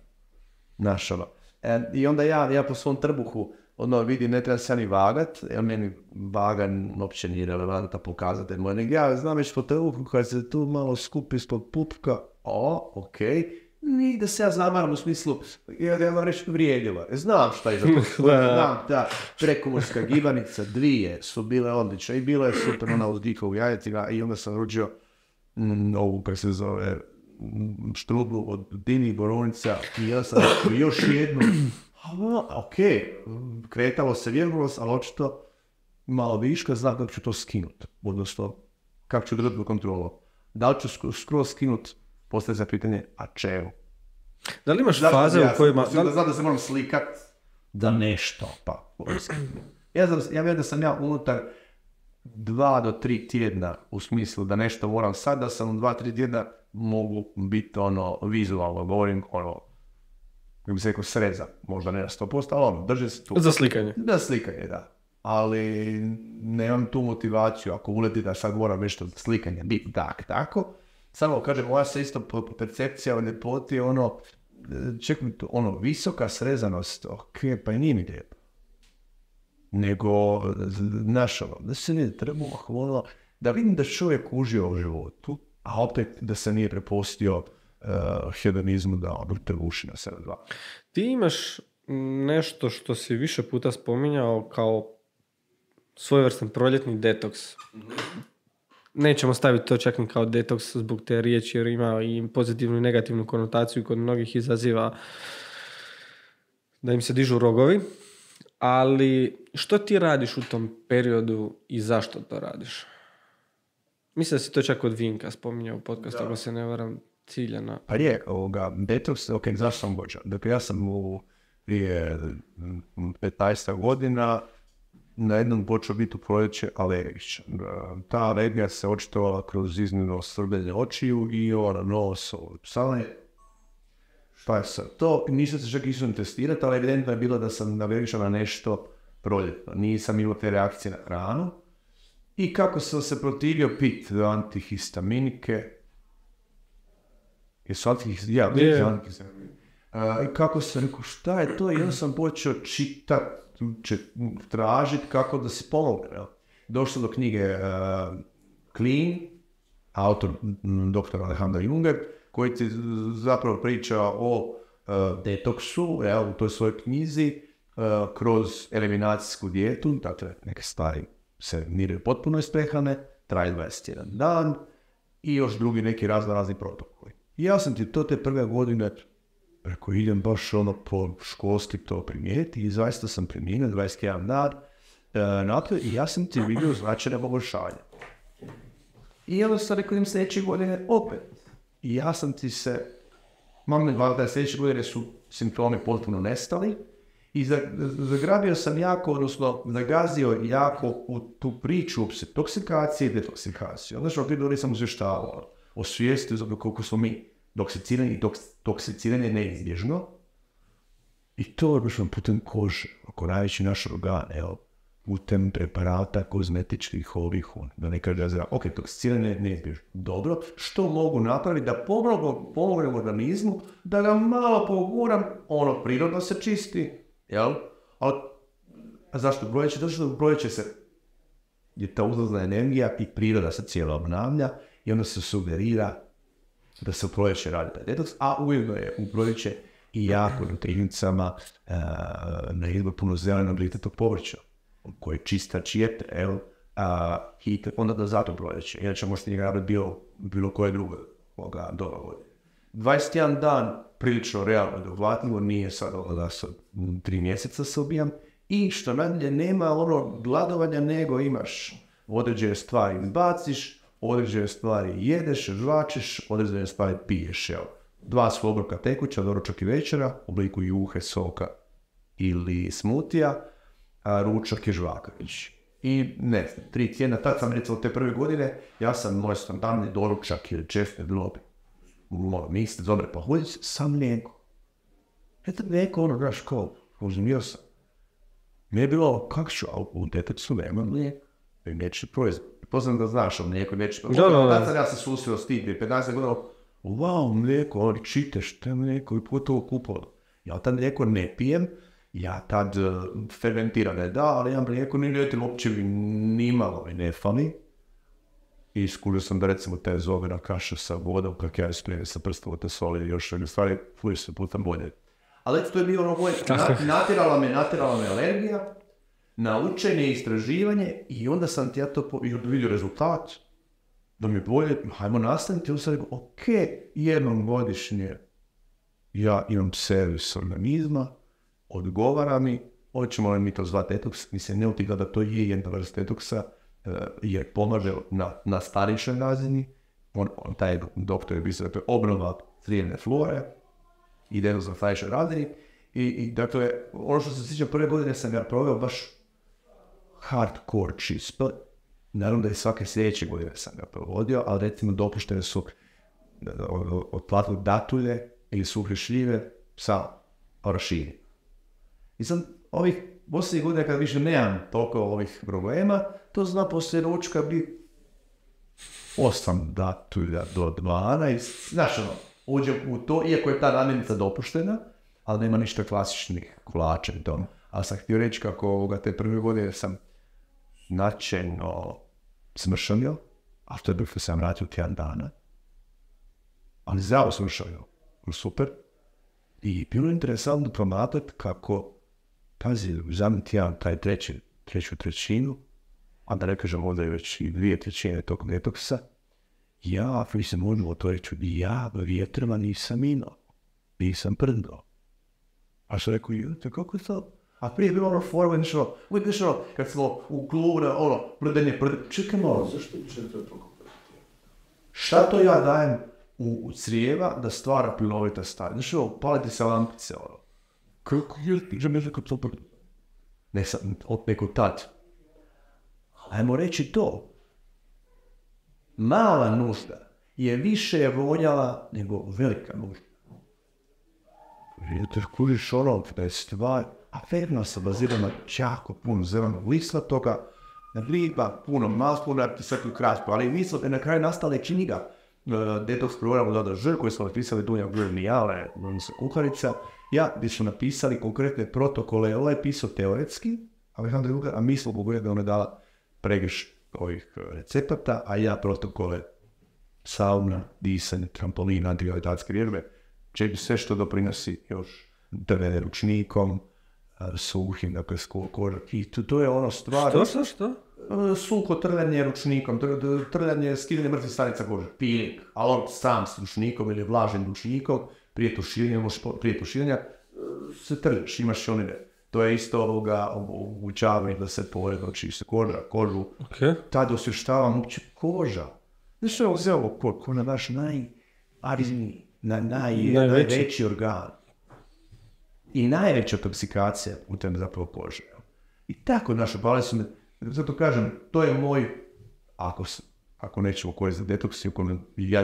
našalo. I onda ja po svom trbuhu, vidim, ne treba se ni vagat, jer meni vaga uopće nije relevanta pokazatelj moj, nego ja znam već po trbuhu kad se tu malo skupi ispod pupka, ok, Ni da se ja zamaram u smislu, ja vam reći vrijedila. Znam šta je za to. Znam da prekomorska gibanica 2 su bile odlične i bilo je super ona uz Dika u jajetima i onda sam ručio ovu, kako se zove, štrudlu od Dini Borovnica i ja sam još jednu. Ok, kretalo se, vjerovalo se, ali očito malo viška, znam kako ću to skinuti. Odnosno, kako ću držati kontrolu. Da li ću skroz skinuti, postoje za pitanje, a čemu? Da li imaš faze u kojima... Znam da se moram slikat da nešto, pa... Ja vjerujem da sam ja unutar 2 do 3 tjedna, u smislu da nešto moram sad, da sam u 2-3 tjedna mogu biti vizualno, govorim kako bi se rekao sreza, možda ne na 100%, ali drži se tu. Za slikanje. Da, slikanje, da. Ali nemam tu motivaciju, ako uleti da sad moram nešto za slikanje, biti tako. Samo kažem, moja se isto percepcija o ljepoti je čekaj, visoka srezanost, ok, pa i nije mi lijepo. Nego, da se nije trebalo, da vidim da čovjek užio u životu, a opet da se nije prepustio hedonizmu da te uši na 7-2. Ti imaš nešto što si više puta spominjao kao svojevrstan proljetni detoks. Nećemo staviti to čak ni kao detoks zbog te riječi jer ima i pozitivnu i negativnu konotaciju kod mnogih izaziva da im se dižu rogovi. Ali što ti radiš u tom periodu i zašto to radiš? Mislim da si to čak od Vinka spominjao u podcastu, ako se ne varam, ciljano. Pa je, detoks, ok, zašto sam počeo? Dakle, ja sam prije 15 godina na jednom počeo biti u proljeće alergičan. Ta alergija se očitovala kroz iznimno srbenje očiju i nos, psale. Šta je sad to? Nisam se čak išao testirati, ali evidentno je bilo da sam alergičan na nešto proljetno. Nisam imao te reakcije na hranu. I kako sam se protivio pit antihistaminike. Jesu antihistaminike? I kako sam rekao, šta je to? I onda sam počeo čitati, tražiti kako da se pomogne. Došao do knjige Clean, autor dr. Alejandro Junger, koji ti zapravo priča o detoksu u toj svojoj knjizi kroz eliminacijsku dijetu, dakle neke stvari se miraju potpuno iz prehrane, traje 21 dan i još drugi neki razni protokoli. I ja sam ti to te prve godine rekao, idem baš po školski to primijeti i zaista sam primijenio 21 dan naprijed i ja sam ti vidio značajne poboljšanje. I onda sam rekao, idem sljedeće godine opet. I ja sam ti se, da sljedeće godine su simptomi potpuno nestali i zagrabio sam jako, odnosno zagazio jako u tu priču o toksikaciji i detoksikaciji. Onda što prije nisam izvještavao o svijesti koliko smo mi toksicirani i toksiciranje je neizbježno. I to je baš putem kože, oko najveći naš organ, putem preparata kozmetičkih da ne kaže da ok, toksiciranje je neizbježno. Dobro, što mogu napraviti da pomognem organizmu, da ga malo poguram, prirodno se čisti, jel? A zašto proljeće? Zato što proljeće se je ta uzlazna energija i priroda se cijelo obnavlja i onda se sugerira da se u proljeće radi taj detoks, a ujedno je u proljeće i jako na tehnicama na izbor puno zelenog litetog povrća, koje je čista čijete, i onda da zato proljeće, inače možete njega raditi bilo koje drugo doba. 21 dan prilično realno dohvatljivo, nije sad da sam 3 mjeseca se ubijam, i što nadalje nema gladovanja, nego imaš određene stvari baciš, određene stvari jedeš, žvačeš, određene stvari piješ. 2 su obroka tekuća, doručak i večera, u obliku juhe, soka ili smutija, a ručak je žvakavić. I 3 tjedna, tad sam recimo te prve godine, ja sam moj standardni doručak ili čefne bilo miste, dobre pahuljice, sam mlijeko. Eto mlijeko, znaš kao, uzmio sam. Mi je bilo, kako ću, a u deteksu nema mlijeka. I neće proizvod. Poznam da znaš o mlijeku i neće proizvod. Tad sam ja se susreo s tim, 15 godina, wow, mlijeko, ali čiteš, to je mlijeko i pogotovo kupalo. Ja tad mlijeko ne pijem, ja tad fermentirane da, ali ja mlijeko ni ljetim uopće nimalo mi ne fali. i iskužio sam da recimo te zobena kaša sa vodom, kak ja ispunim sa prstom te soli i još stvari, fuš se puta bolje. Ali to je bilo ono moje, natjerala me alergija, na učenje, istraživanje i onda sam ti ja to vidio rezultat, da mi je bolje, hajmo nastaviti, onda sam rekao, ok, jednom godišnje ja imam servis organizma, odgovara mi, hoćemo li mi to zvati detoks, mislim ne utigla da to je jedna vrst detoksa, jer pomaže na starišoj razini, taj doktor je pisao, dakle, obnova crijevne flore, ide na starišoj razini, i dakle, ono što se sjeća prve godine sam ga proveo baš hardcore čisto, naravno da i svake sljedeće godine sam ga provodio, ali recimo dopuštene su otplatili datulje ili suhe šljive sa orašinjem. I sam ovih posljednjih godina kad više nemam toliko ovih problema, to zna poslije ručka biti 8 datulja do 12, znaš ono, uđem u to, iako je ta namirnica dopuštena, ali nema ništa klasičnih kolača i tome. Ali sam htio reći kako te prve godine sam značajno smršanio, a to je bilo sam vratio tjedan dana, ali zdravo smršanio, super. I bilo je interesantno promatrati kako, pazi, zadnji tjedan taj treću trećinu, a da ne kažem ovdje je već i 2/3 tog detoksa, ja, mislim, možemo to reći, ja vjetrama nisam imao, nisam prdao. A što rekao, kako je to? A prije je bilo ono forward, nešto, uvijek nešto, kad smo u klubu, ono, prdenje, čekaj malo, zašto će to toliko prditi? Šta to ja dajem u crijeva da stvara plinovita stanje? Znaš, ovo, palite se lampice, ono. Kako je, že mi je rekao to prditi? Ne sam, od nekog tad. Ajmo reći to. Mala nužda je više vonjala nego velika nužda. Jer kužiš ono, da je stvar, aferno se bazira na jako puno zelenog lista toga, riba, puno masluna, svetlu kraspu, ali mislim da na kraju nastala je knjiga Detoks program Dada Žr, koji smo napisali Dunja Gurnijale, kuharica, ja bi su napisali konkretne protokole, ovo je pisao teoretski, a mi smo pogledali da ona dala pregrš ovih recepata, a ja protokole sauna, disanje, trampolin, antigravitacijske vježbe, čepi sve što doprinosi još trljanje ručnikom, suhim, dakle, koža. I to je ono stvar... Što? Suho trljanje ručnikom, trljanje, skidanje mrtvih stanica kože, peeling, ali on sam s ručnikom ili vlažnim ručnikom, prije tuširanja se trljaš, imaš onine. To je isto omogućavanje da se poredno čisti kožu. Okay. Tad osvještava muči koža. Znaš što je uzeo ko na naš najveći organ. I najveća toksikacija putem zapravo kože. I tako naše pale su me, zato kažem, to je moj, ako nećemo koristiti detoks, ja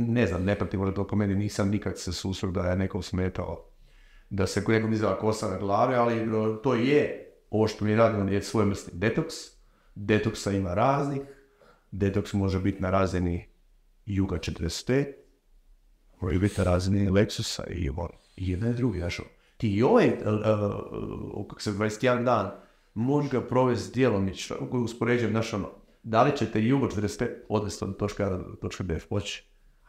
ne znam, ne pratim da toliko meni, nisam nikad se susreo da je nekom smetao da se nekom izgleda kosa na glavi, ali to je, ovo što mi radimo je svojevrsni detoks. Detoksa ima raznih, detoks može biti na razini Juga 45, može biti na razini Lexusa i jedan i drugi, znaš. Ti i ovaj, kako se 21 dan, može ga provesti djelomično, ako uspoređujem, znaš ono, da li ćete Jugo 45 odvesti od točka B poći?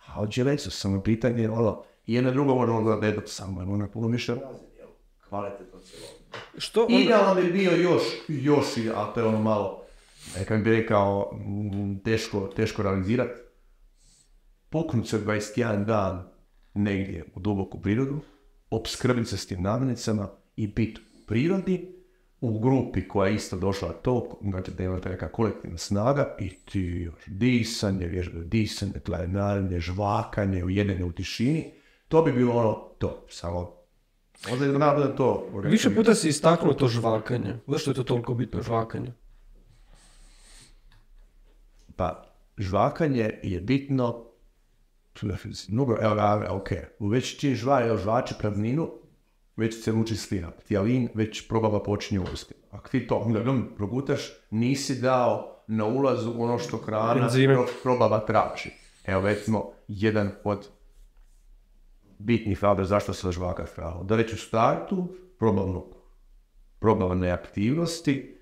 A od Lexus samo pitanje, ono, i jedno drugo možemo gledati detoks samo, ono je puno više razine, kvalitetno cijelo. Idealno bi bio još, a to je ono malo, nekak bi rekao, teško realizirati. Poknuti se 21 dan negdje u duboku prirodu, opskrbiti se s tim namirnicama i biti u prirodi, u grupi koja je isto došla to, znači da imate neka kolektivna snaga i ti još disanje, vježbe disanje, tlajenarenje, žvakanje, ujedinjenje u tišini, to bi bilo ono to, samo možda je da to... Više puta si istaknuo to žvakanje. Zašto je to toliko bitno žvakanje? Pa, žvakanje je bitno, ok, već čim žvače prazninu, već se luči slina, tijalin već probava počinje uvesti. Ako ti to progutaš, nisi dao na ulazu ono što hrana probava traži. Evo recimo, jedan od bitnih faktora zašto se žvaka hrana. Da već u startu probavne aktivnosti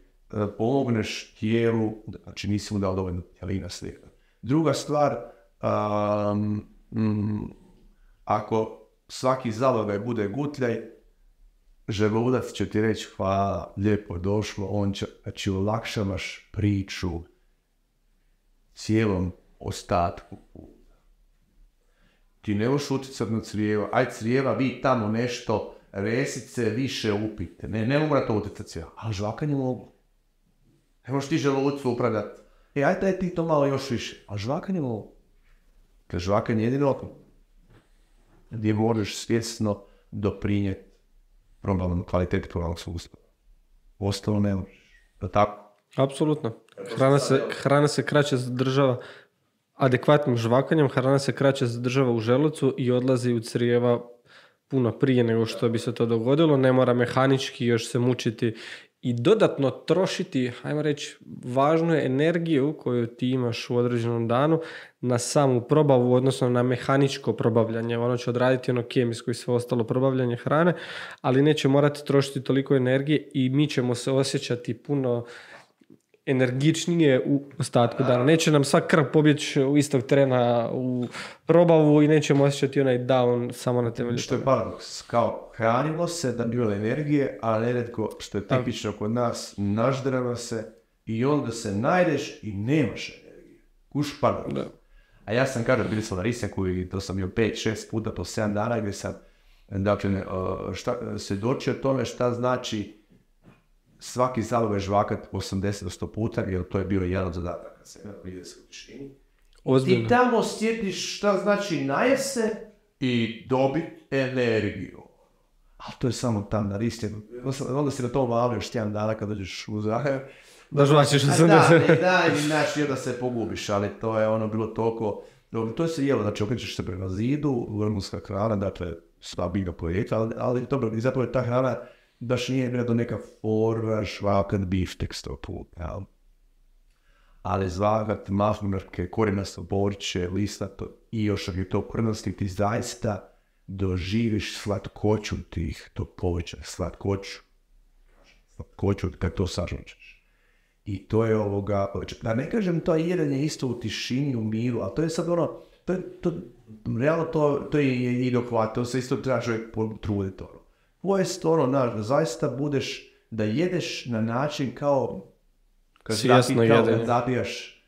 pomogneš tijelu, znači nisi mu dao dovoljno tijalina slina. Druga stvar, ako svaki zalogaj bude gutljaj, želudac će ti reći hvala, lijepo došlo, on će, znači olakšavaš priču cijelom ostatku. Ti ne možeš utjecati na crijeva, aj crijeva, vi tamo nešto, resice više upite, ne mora to utjecati crijeva, ali žvakanje mogu. Ne možeš ti želucu upravljati, aj ti to malo još više, ali žvakanje mogu. Kad žvakanje je jedino gdje možeš svjesno doprinijeti kvaliteti probavnog sustava. Ostalo ne možeš. Da tako? Apsolutno. Hrana se kraće zadržava adekvatnim žvakanjem, hrana se kraće zadržava u želucu i odlazi u crijeva puno prije nego što bi se to dogodilo. Ne mora mehanički još se mučiti i dodatno trošiti, hajmo reći, važnu energiju koju ti imaš u određenom danu na samu probavu, odnosno na mehaničko probavljanje. Ono će odraditi ono kemijsko i sve ostalo probavljanje hrane, ali neće morati trošiti toliko energije i mi ćemo se osjećati puno energičnije u ostatku dana. Neće nam sva krv pobjeći u istog trena u probavu i nećemo osjećati onaj down samo na temelju. Što je paradoks, kao hranimo se da bi bilo energije, a neretko, što je tipično kod nas, naždrava se i onda se najdeš i nemaš energije. Kuš paradoks. Da. A ja sam bili sam na Risenku i to sam bio 5-6 puta po 7 dana gdje sam svjedočio tome šta znači svaki zalogaj žvakat 80-100 puta, jer to je bio jedan od zadataka se prije se u tišini. I tamo sjetiš šta znači najese i dobiti energiju. Ali to je samo tam na Risenku. Onda si na to valio još tjedan dana kad dođeš u Zagreb. Da žvačiš 80. Da se pogubiš, ali to je ono bilo toliko. To se jelo, znači okrećeš se prema zidu, vrhunska hrana, dakle sva biljna projekta, ali dobro, i zapravo je ta hrana baš nije do neka forva, žvakat, biftek 100 puta, ali žvakat, mahunarke, korjenasto povrće, listato i još ako je to korjenosti, ti zaista doživiš slatkoću tih tog povrća, slatkoću kad to sažučeš. I to je da ne kažem to jedanje isto u tišini, u miru, ali to je sad ono, realno to je i dohvat, to se isto treba čovjek potruditi. Ovo je stvarno, zaista budeš da jedeš na način kao kad zabijaš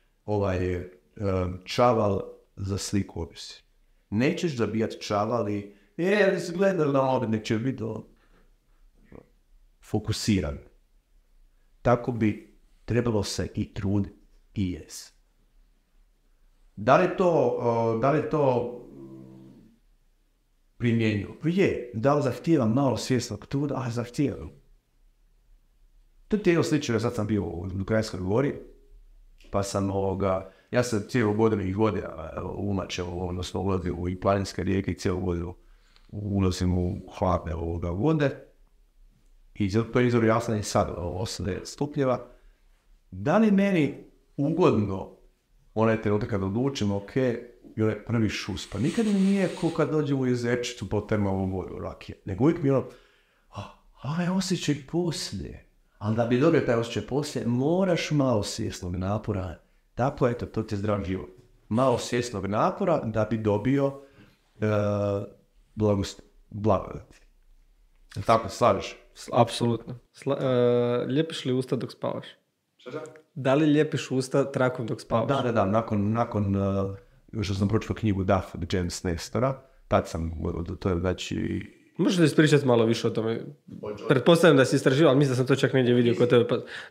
čaval za sliku obisi. Nećeš zabijati čaval i se gledali na ovdje, nek će biti fokusiran. Tako bi trebalo se i truditi i jes. Da li to primjenju? Je. Da li zahtijevam malo svjesnog truda? Zahtijevam. To je jedno slično, sad sam bio u Krajinskoj gori, pa sam ja sam cijelu godinu ih vodio umačeo, odnosno ulazio u planinske rijeke i cijelu godinu ulazim u hladne vode. I to je izvor jasno i sad, 8 stupnjeva. Da li meni ugodno onaj trenutak kad odlučim, i onaj prvi šus, pa nikad mi nije ko kad dođem u jezerčicu po termalnom vodu rakije, nego uvijek mi osjećaj poslije. Ali da bi dobio taj osjećaj poslije, moraš malo svjesnog napora. Tako, eto, to ti je zdrav život. Malo svjesnog napora da bi dobio blagodati. Tako, slažeš? Apsolutno. Ljepiš li usta dok spavaš? Da li ljepiš usta trakom dok spavaš? Da, nakon što sam pročitao knjigu Duff od James Nestora, tad sam, to je znači... Možeš li ispričati malo više o tome? Pretpostavljam da si istraživao, ali mislim da sam to čak negdje vidio kod tebe.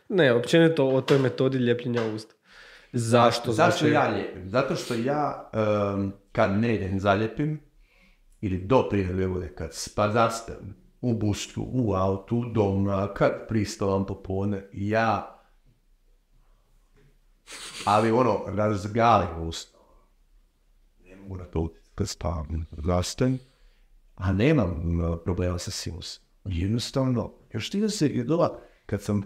Ne, općenito o toj metodi ljepljenja usta. Zašto? Zašto ja ljepim? Zato što ja, kad ne zaljepim, ili do prije vode, kad zastavim u bustu, u autu, doma, kad pristavam popodne, ali razgalim usta. Ne mogu na to kad spavam, zastavim, a nemam problema sa sinusom. Jednostavno, još ti da se jedova, kad sam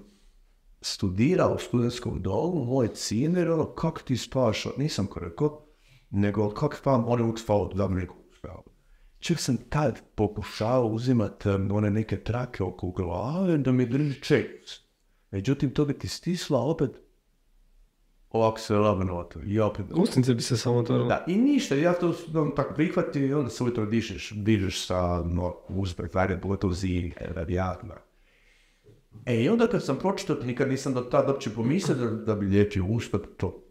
studirao u studentskom domu, moj ciner, kako ti spavaš, nisam ko rekao, nego kako spavam, uvijek spavao, da mi neko spavao. Čak sam tad pokušao uzimati one neke trake oko glave da mi drži čeljust. Međutim, to bi ti stisla ovako se lagano otvori. I opet... Usnice bi se samo otvorilo. Da, i ništa, ja to tako prihvatio i onda se ujutro dižeš sa uspeh, vajde, pogotovo zimi, radijatima. I onda kad sam pročitao, nikad nisam do tada uopće pomislio da bi liječio usta, to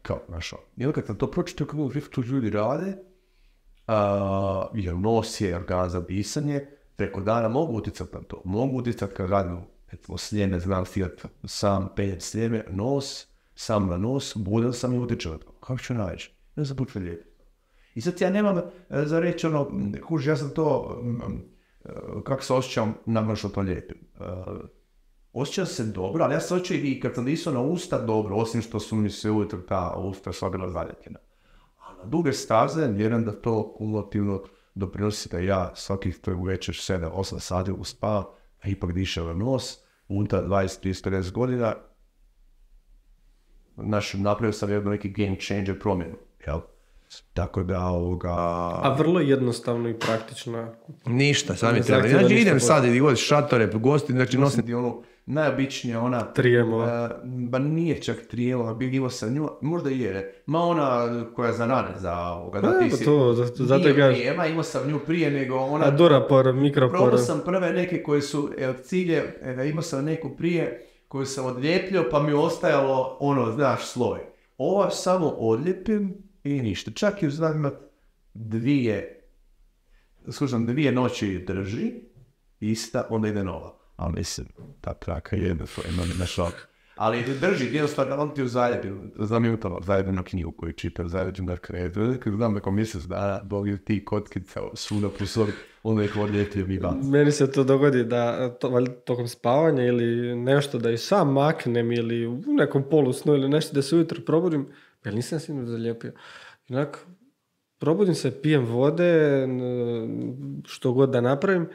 kao našao. I onda kad sam to pročitao, kako to ljudi rade, jer nos je organ za disanje, preko dana mogu utjecati na to. Mogu utjecati kad radim, sljeme, znam stigati sam penjem sljeme, nos, sam na nos, budem sam i utječem na to. Kako ću naći? Ja sam počeo lijepiti. I sad ja nemam za reći kuži, ja sam to, kako se osjećam nakon što to lijepim. Osjećam se dobro, ali ja se osjećam i kad sam disao na usta dobro, osim što su mi se ujutro ta usta sva bila zaljepljena. A na duge staze, vjerujem da to kumulativno doprinosi da ja svakih večer 7-8 sati uspavam, a ipak dišem na nos, unutar 20-30 godina, napravio sam jedno neki game changer promjenu, jel? Tako da A vrlo jednostavno i praktično. Ništa, sad mi treba. Znači idem sad i god šatore, gosti, znači nosim ti onu najobičnija ona... Trijemova. Ba nije čak trijemova, imao sam nju, možda i je, ma ona koja za rane, za ovoga, da ti si... Zato nije trijema, imao sam nju prije nego ona... A durapor, mikropor. Probao sam prve neke koje su, cilje, imao sam neku prije koju sam odlijepljio, pa mi ostajalo ono, znaš, sloj. Ova samo odlijepim i ništa. Čak i znam dvije noći drži, ista, onda ide nova. Ali mislim, ta traka je jedna svoja, imam na šok. Ali drži, jednostavno, on ti u zaljepljenu knjigu koju čitam, zaljepljenu na kredu. Znam neko mjesec dana, Bog je ti kockica svuda po sobi, onda ih odlijepio mi vas. Meni se to dogodi da tokom spavanja ili nešto da i sam maknem ili u nekom polusnu ili nešto da se ujutro probudim, ja nisam sinu zalijepio. Inak, probudim se, pijem vode, što god da napravim,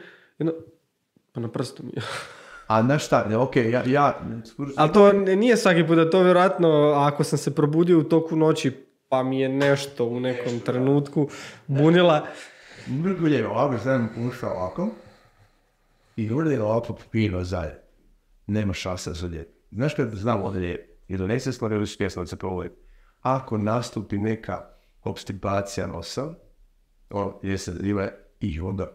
pa na prstu mi je. A znaš šta, okej, ja... Ali to nije svaki put, da to vjerojatno, ako sam se probudio u toku noći, pa mi je nešto u nekom trenutku bunila. Mrgulje, ovako sam puštao ovako i urdim ovako pino zalje. Nema šanse za lijep. Znaš kad znam ovdje lijep, jer donese stvari ili svjesno da se provodim. Ako nastupi neka obstipacija nosa, gdje se zove i onda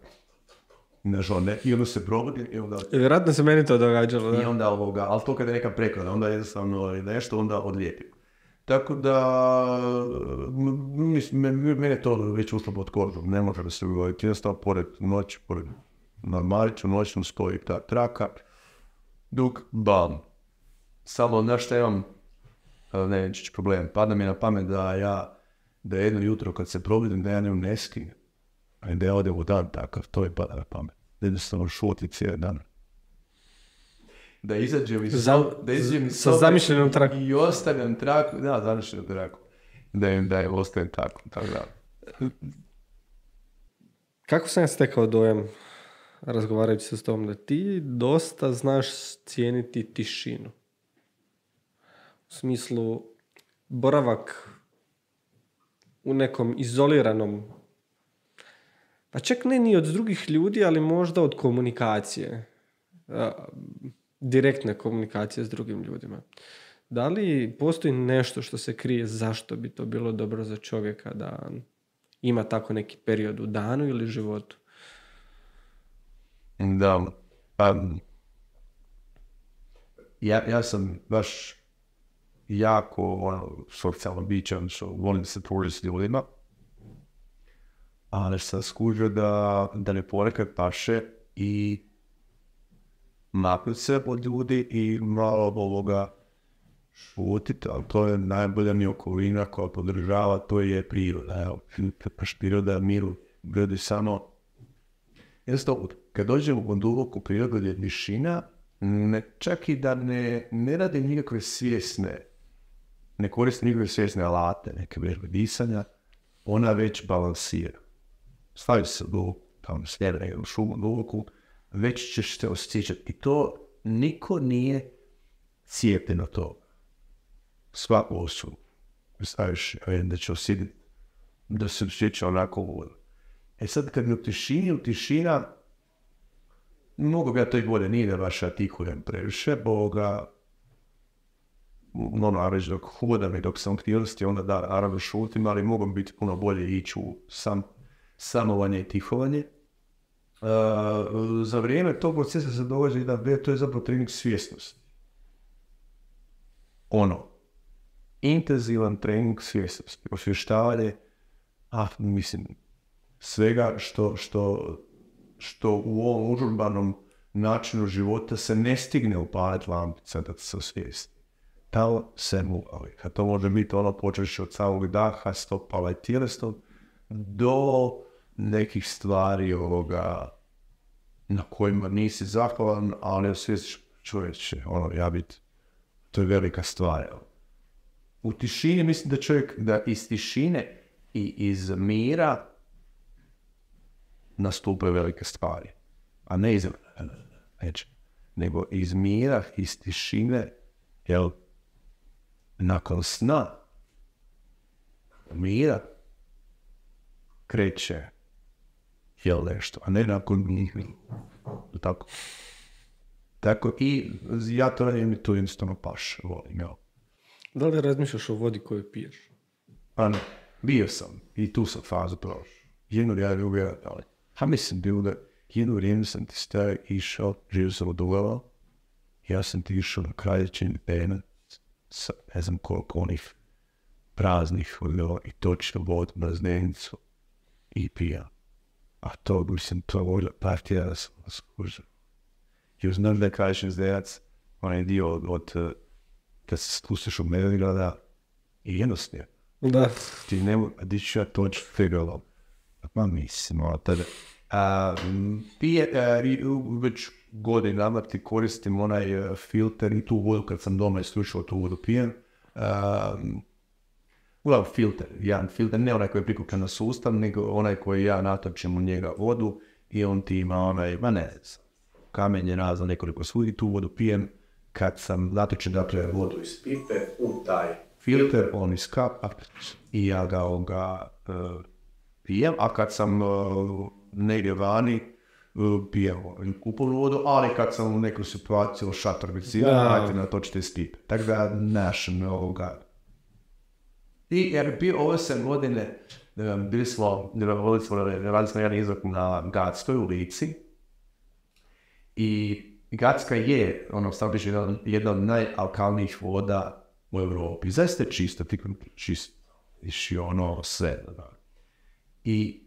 i onda se probudi i onda... Vjerojatno se meni to događalo, da. I onda ali to kada je neka preklada, onda jednostavno nešto, onda odlijepim. Tako da, mene to već ušlo pod kožom, ne može da se ugoditi. Jednostavno, pored normaliću, noćnom stoji ta traka, dok bam. Samo, znaš šta imam, nećeš problem, pada mi na pamet da jedno jutro kad se probudim da ja ne skinem, a da ja odem u dan takav, to je pada na pamet. Da jednostavno šuti cijeli dan. Da izađem iz sa zamišljenom trakom. I ostavljam traku, da, zamišljenom traku. Da je ostavim tako da. Kako sam ja stekao dojam, razgovarajući se s tom, da ti dosta znaš cijeniti tišinu? U smislu, boravak u nekom izoliranom, pa čak ne ni od drugih ljudi, ali možda od komunikacije. Direktne komunikacije s drugim ljudima. Da li postoji nešto što se krije zašto bi to bilo dobro za čovjeka da ima tako neki period u danu ili životu? Da, ja sam baš jako socijalno bićan, što volim se poručiti s ljudima, ali sam skužio da ne ponekad paše i maknuti se od ljudi i malo šutiti, ali to je najbolja mi okolina koja podržava, to je priroda. Evo, baš priroda, miru, ljudi samo... Jednostavno, kad dođemo u duboku prirodu gdje je tišina, čak i da ne radi nikakve svjesne, ne koriste nikakve svjesne alate, neke vežbe disanja, ona već balansira. Stavi se duboku, tamo slijede u šumu duboku, već ćeš se osjećati. I to niko nije cijepljen od toga. Svaku osobu staviš da će osjetiti, da se osjeća onako uvodno. Sad kad mi u tišina, mogu bi ja to i bolje, nije da baš artikuliram previše, ono, reći dok hodam i dok sam aktivnosti, onda da, naravno šutim, ali mogu biti puno bolje ići u samovanje i tihovanje. Za vrijeme tog procesa se događa jedan to je zapravo trening svjesnosti. Ono, intenzivan trening svjesnosti, osvještavanje, svega što u ovom užurbanom načinu života se ne stigne upaliti lampica da se osvijesti. Tamo se muvali. A to može biti ono počeši od samog daha, stopala i tjelesnog, do nekih stvari ovoga na kojima nisi zahvalan, ali osvijestiš čovječe, to je velika stvar. U tišini mislim da čovjek, da iz tišine i iz mira nastupaju velike stvari. A ne iz nego iz mira, iz tišine, nakon sna, mira, kreće nešto, a ne nakon njih. Tako. Tako i ja to radim i to jednostavno paš, volim, Da li razmišljaš o vodi koju piješ? Pa ne, bio sam i tu sam fazu prošao. Jedno ja ljubio, ali mislim bilo da jedno vrijeme sam ti stari išao, živio sam od Ugava, ja sam ti išao na Kraljećin pena sa ne znam koliko onih praznih i točno vodu na zdenicu i pijam. A to mislim, to volja partija da sam skužio. Jer znam da je Kraljećin zdenac, onaj dio od kad se spustiš u Medvegrada i jednostavno. Da. Ti nema, di ću ja točno figuralo. Pa mislim, tada. Već godinama ti koristim onaj filter i tu vodu kad sam doma isključio tu vodu pijem. Uglavnom filter, jedan filter, ne onaj koji je prikupljen na sustav, nego onaj koji ja natočim u njega vodu i on ti ima onaj, kamenje razno nekoliko svudi, tu vodu pijem kad sam natočen dakle vodu iz pipe u taj filter, on iz kapa i ja ga pijem, a kad sam negdje vani, pijem kuponu vodu, ali kad sam u neku situaciju šator bicira, ajte natočite iz pipe. Tako da našem ovoga. I jer bio ove 7 godine, radili smo jedan izlog na Gatskoj u Lici i Gatska je, stavno piše, jedna od najalkalnijih voda u Europi. Zaista je čisto, čisto. Iši sve. I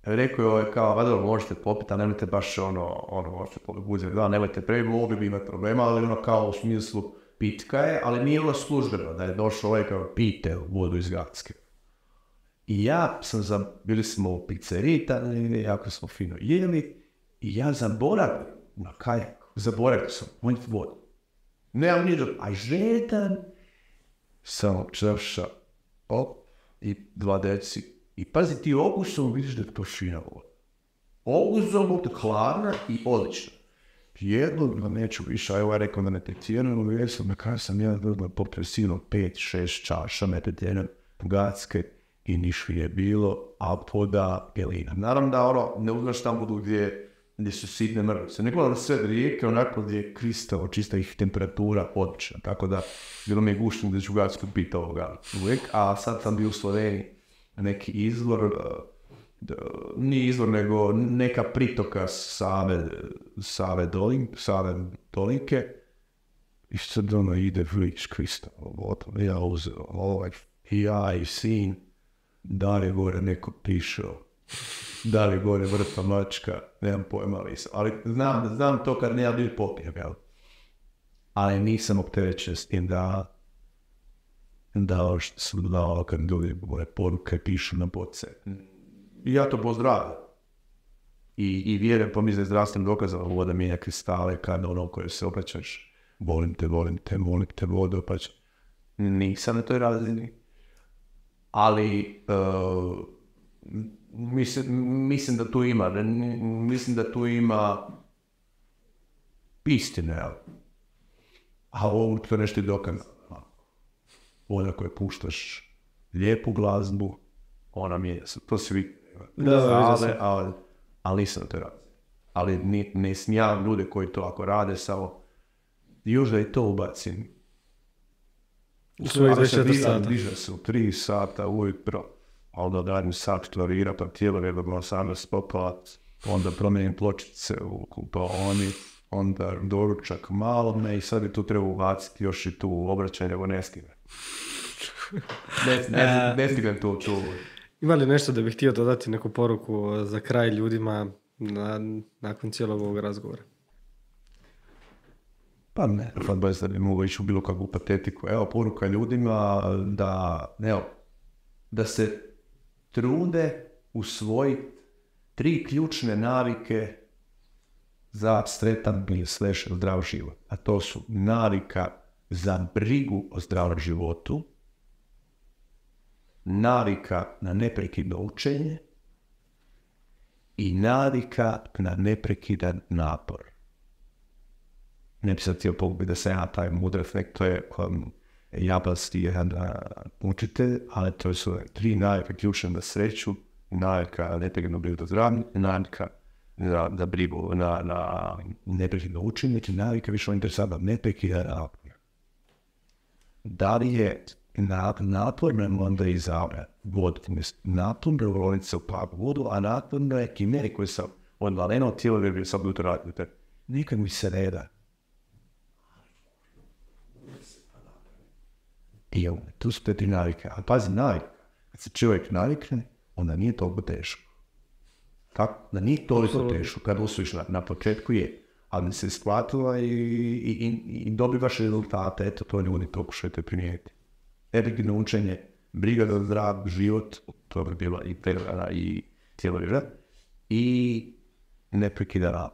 rekao je kao, vada možete popiti, a nemojte baš možete popiti, nemojte mogli bi imati problema, ali kao u smislu pitka je, ali nije službeno da je došao ovaj kao pijte vodu iz Gatske. I ja sam, bili smo u pizzeriji, jako smo fino jeli, i ja zaboravim na kajak, zaboravio sam, mojiti vodu. Nemam niđe, a žetan, samo črša, i 2 deci. I pazi, ti okusom vidiš da je to fina voda. Okusom je hladna i odlična. Jedno, neću više, a evo ja rekao da ne tetijenujem, jer sam na kraju sam jedan vrlo popio sigurno 5-6 čaša metetjenem Gatske i niš je bilo, a poda gelina. Naravno da ne uzmaš tamo budu gdje su sitne mrvice. Ne gledam sve rijeke, onako gdje je kristal, čista ih temperatura odlična. Tako da, bilo mi je guštno da ću Gatsku piti ovoga uvijek, a sad sam bio u Sloveniji neki izvor, nije izvor, nego neka pritoka Save Dolinke i sad ide vidiš kristal. Ja uzeo ja i sin, da li je gore neko pišao, da li je gore vrta mačka, nemam pojma, ali znam to kad ne ja bil popijem, ali nisam opterećen s tim da sam dao kad ljudi gore poruke pišu na boce. I ja to pozdravim. I vjerujem, pa mi za zdravstvenim dokazama voda mijenja kristale kad koje se obraćaš, volim te vodu, pa nisam na toj razini. Ali mislim da tu ima istine, a ovo to nešto je dokazano. Voda koju puštaš lijepu glazbu, ona mijenja se, to svi ali nisam to radio. Ali ne smijam ljude koji to ako rade samo, još da i to ubacim svojih 24 sata. Diže se u 3 sata ujutro, a onda dajem sat klarira, pa tijelo je dobro 18 popala, onda promijenim pločice u kupaoni, onda doručak malome i sad bi tu treba ubaciti još i tu obraćanje, evo ne stignem. Ne stignem tu. Ima li nešto da bih htio dodati neku poruku za kraj ljudima nakon cijelog ovog razgovora? Pa ne, da ne mogu ići u bilo kakvu patetiku. Evo, poruka ljudima da se trude usvojiti 3 ključne navike za sretan ili zdrav život. A to su navika za brigu o zdravom životu, navika na neprekidno učenje i navika na neprekidan napor. Ne bi sad htio pogubiti da sam ja taj mudar efekt, to je japanski jedan učitelj, ali to su 3 navike ključne na sreću, navika na neprekidno brigu o zdravlju, navika za brigu na neprekidno učenje i navika više interesantna neprekidan napor. Da li je naporno onda izabrati vodu? Naporno voliti se u plavu vodu, a naporno je kimeri koji sam odvaleno tijelo jer bi sam bio to raditi. Nikad mi se ne da. I tu su te 3 navike. A pazi, navika. Kad se čovjek navikne, onda nije toliko teško. Tako? Da nije toliko teško. Kad osvojiš na početku je. Ali se shvatila i dobivaš rezultate. Eto, to ljudi pokušajte primijeniti. Neprekidno učenje, briga za zdrav život, to bi bilo i prehrana i cijelo život, i neprekidan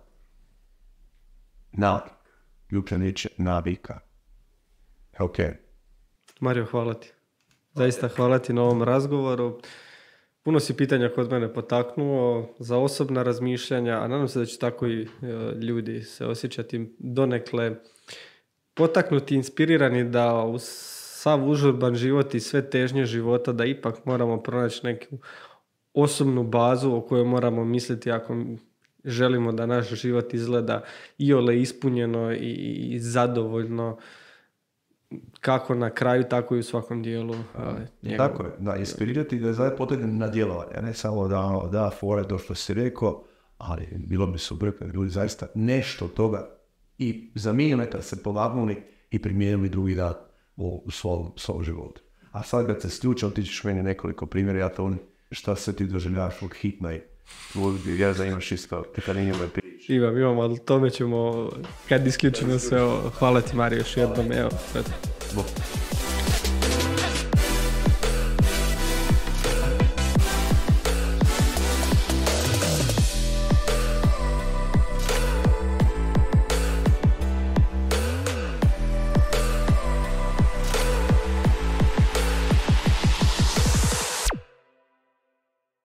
navik. Ključna riječ je navika. Ok. Mario, hvala ti. Zaista hvala ti na ovom razgovoru. Puno si pitanja kod mene potaknuo za osobna razmišljanja, a nadam se da će tako i ljudi se osjećati donekle potaknuti, inspirirani da uz sav užurban život i sve težnje života da ipak moramo pronaći neku osobnu bazu o kojoj moramo misliti ako želimo da naš život izgleda iole ispunjeno i zadovoljno kako na kraju, tako i u svakom dijelu. Tako je, da, inspirirati da je zajedno potrebno na djelovanje, ne samo da fore to što si rekao, ali bilo bi super kad ljudi zaista nešto od toga i za milimetar se povagnuli i primijenili drugi dan u svom životu. A sad kad se sključao, ti ćeš meni nekoliko primjera, ja to šta se ti doživljavaš od hitna i ja da imaš isto pekaninjove priče. Imam, ali tome ćemo kad isključimo sve. Hvala ti, Mario, još jednom. Evo.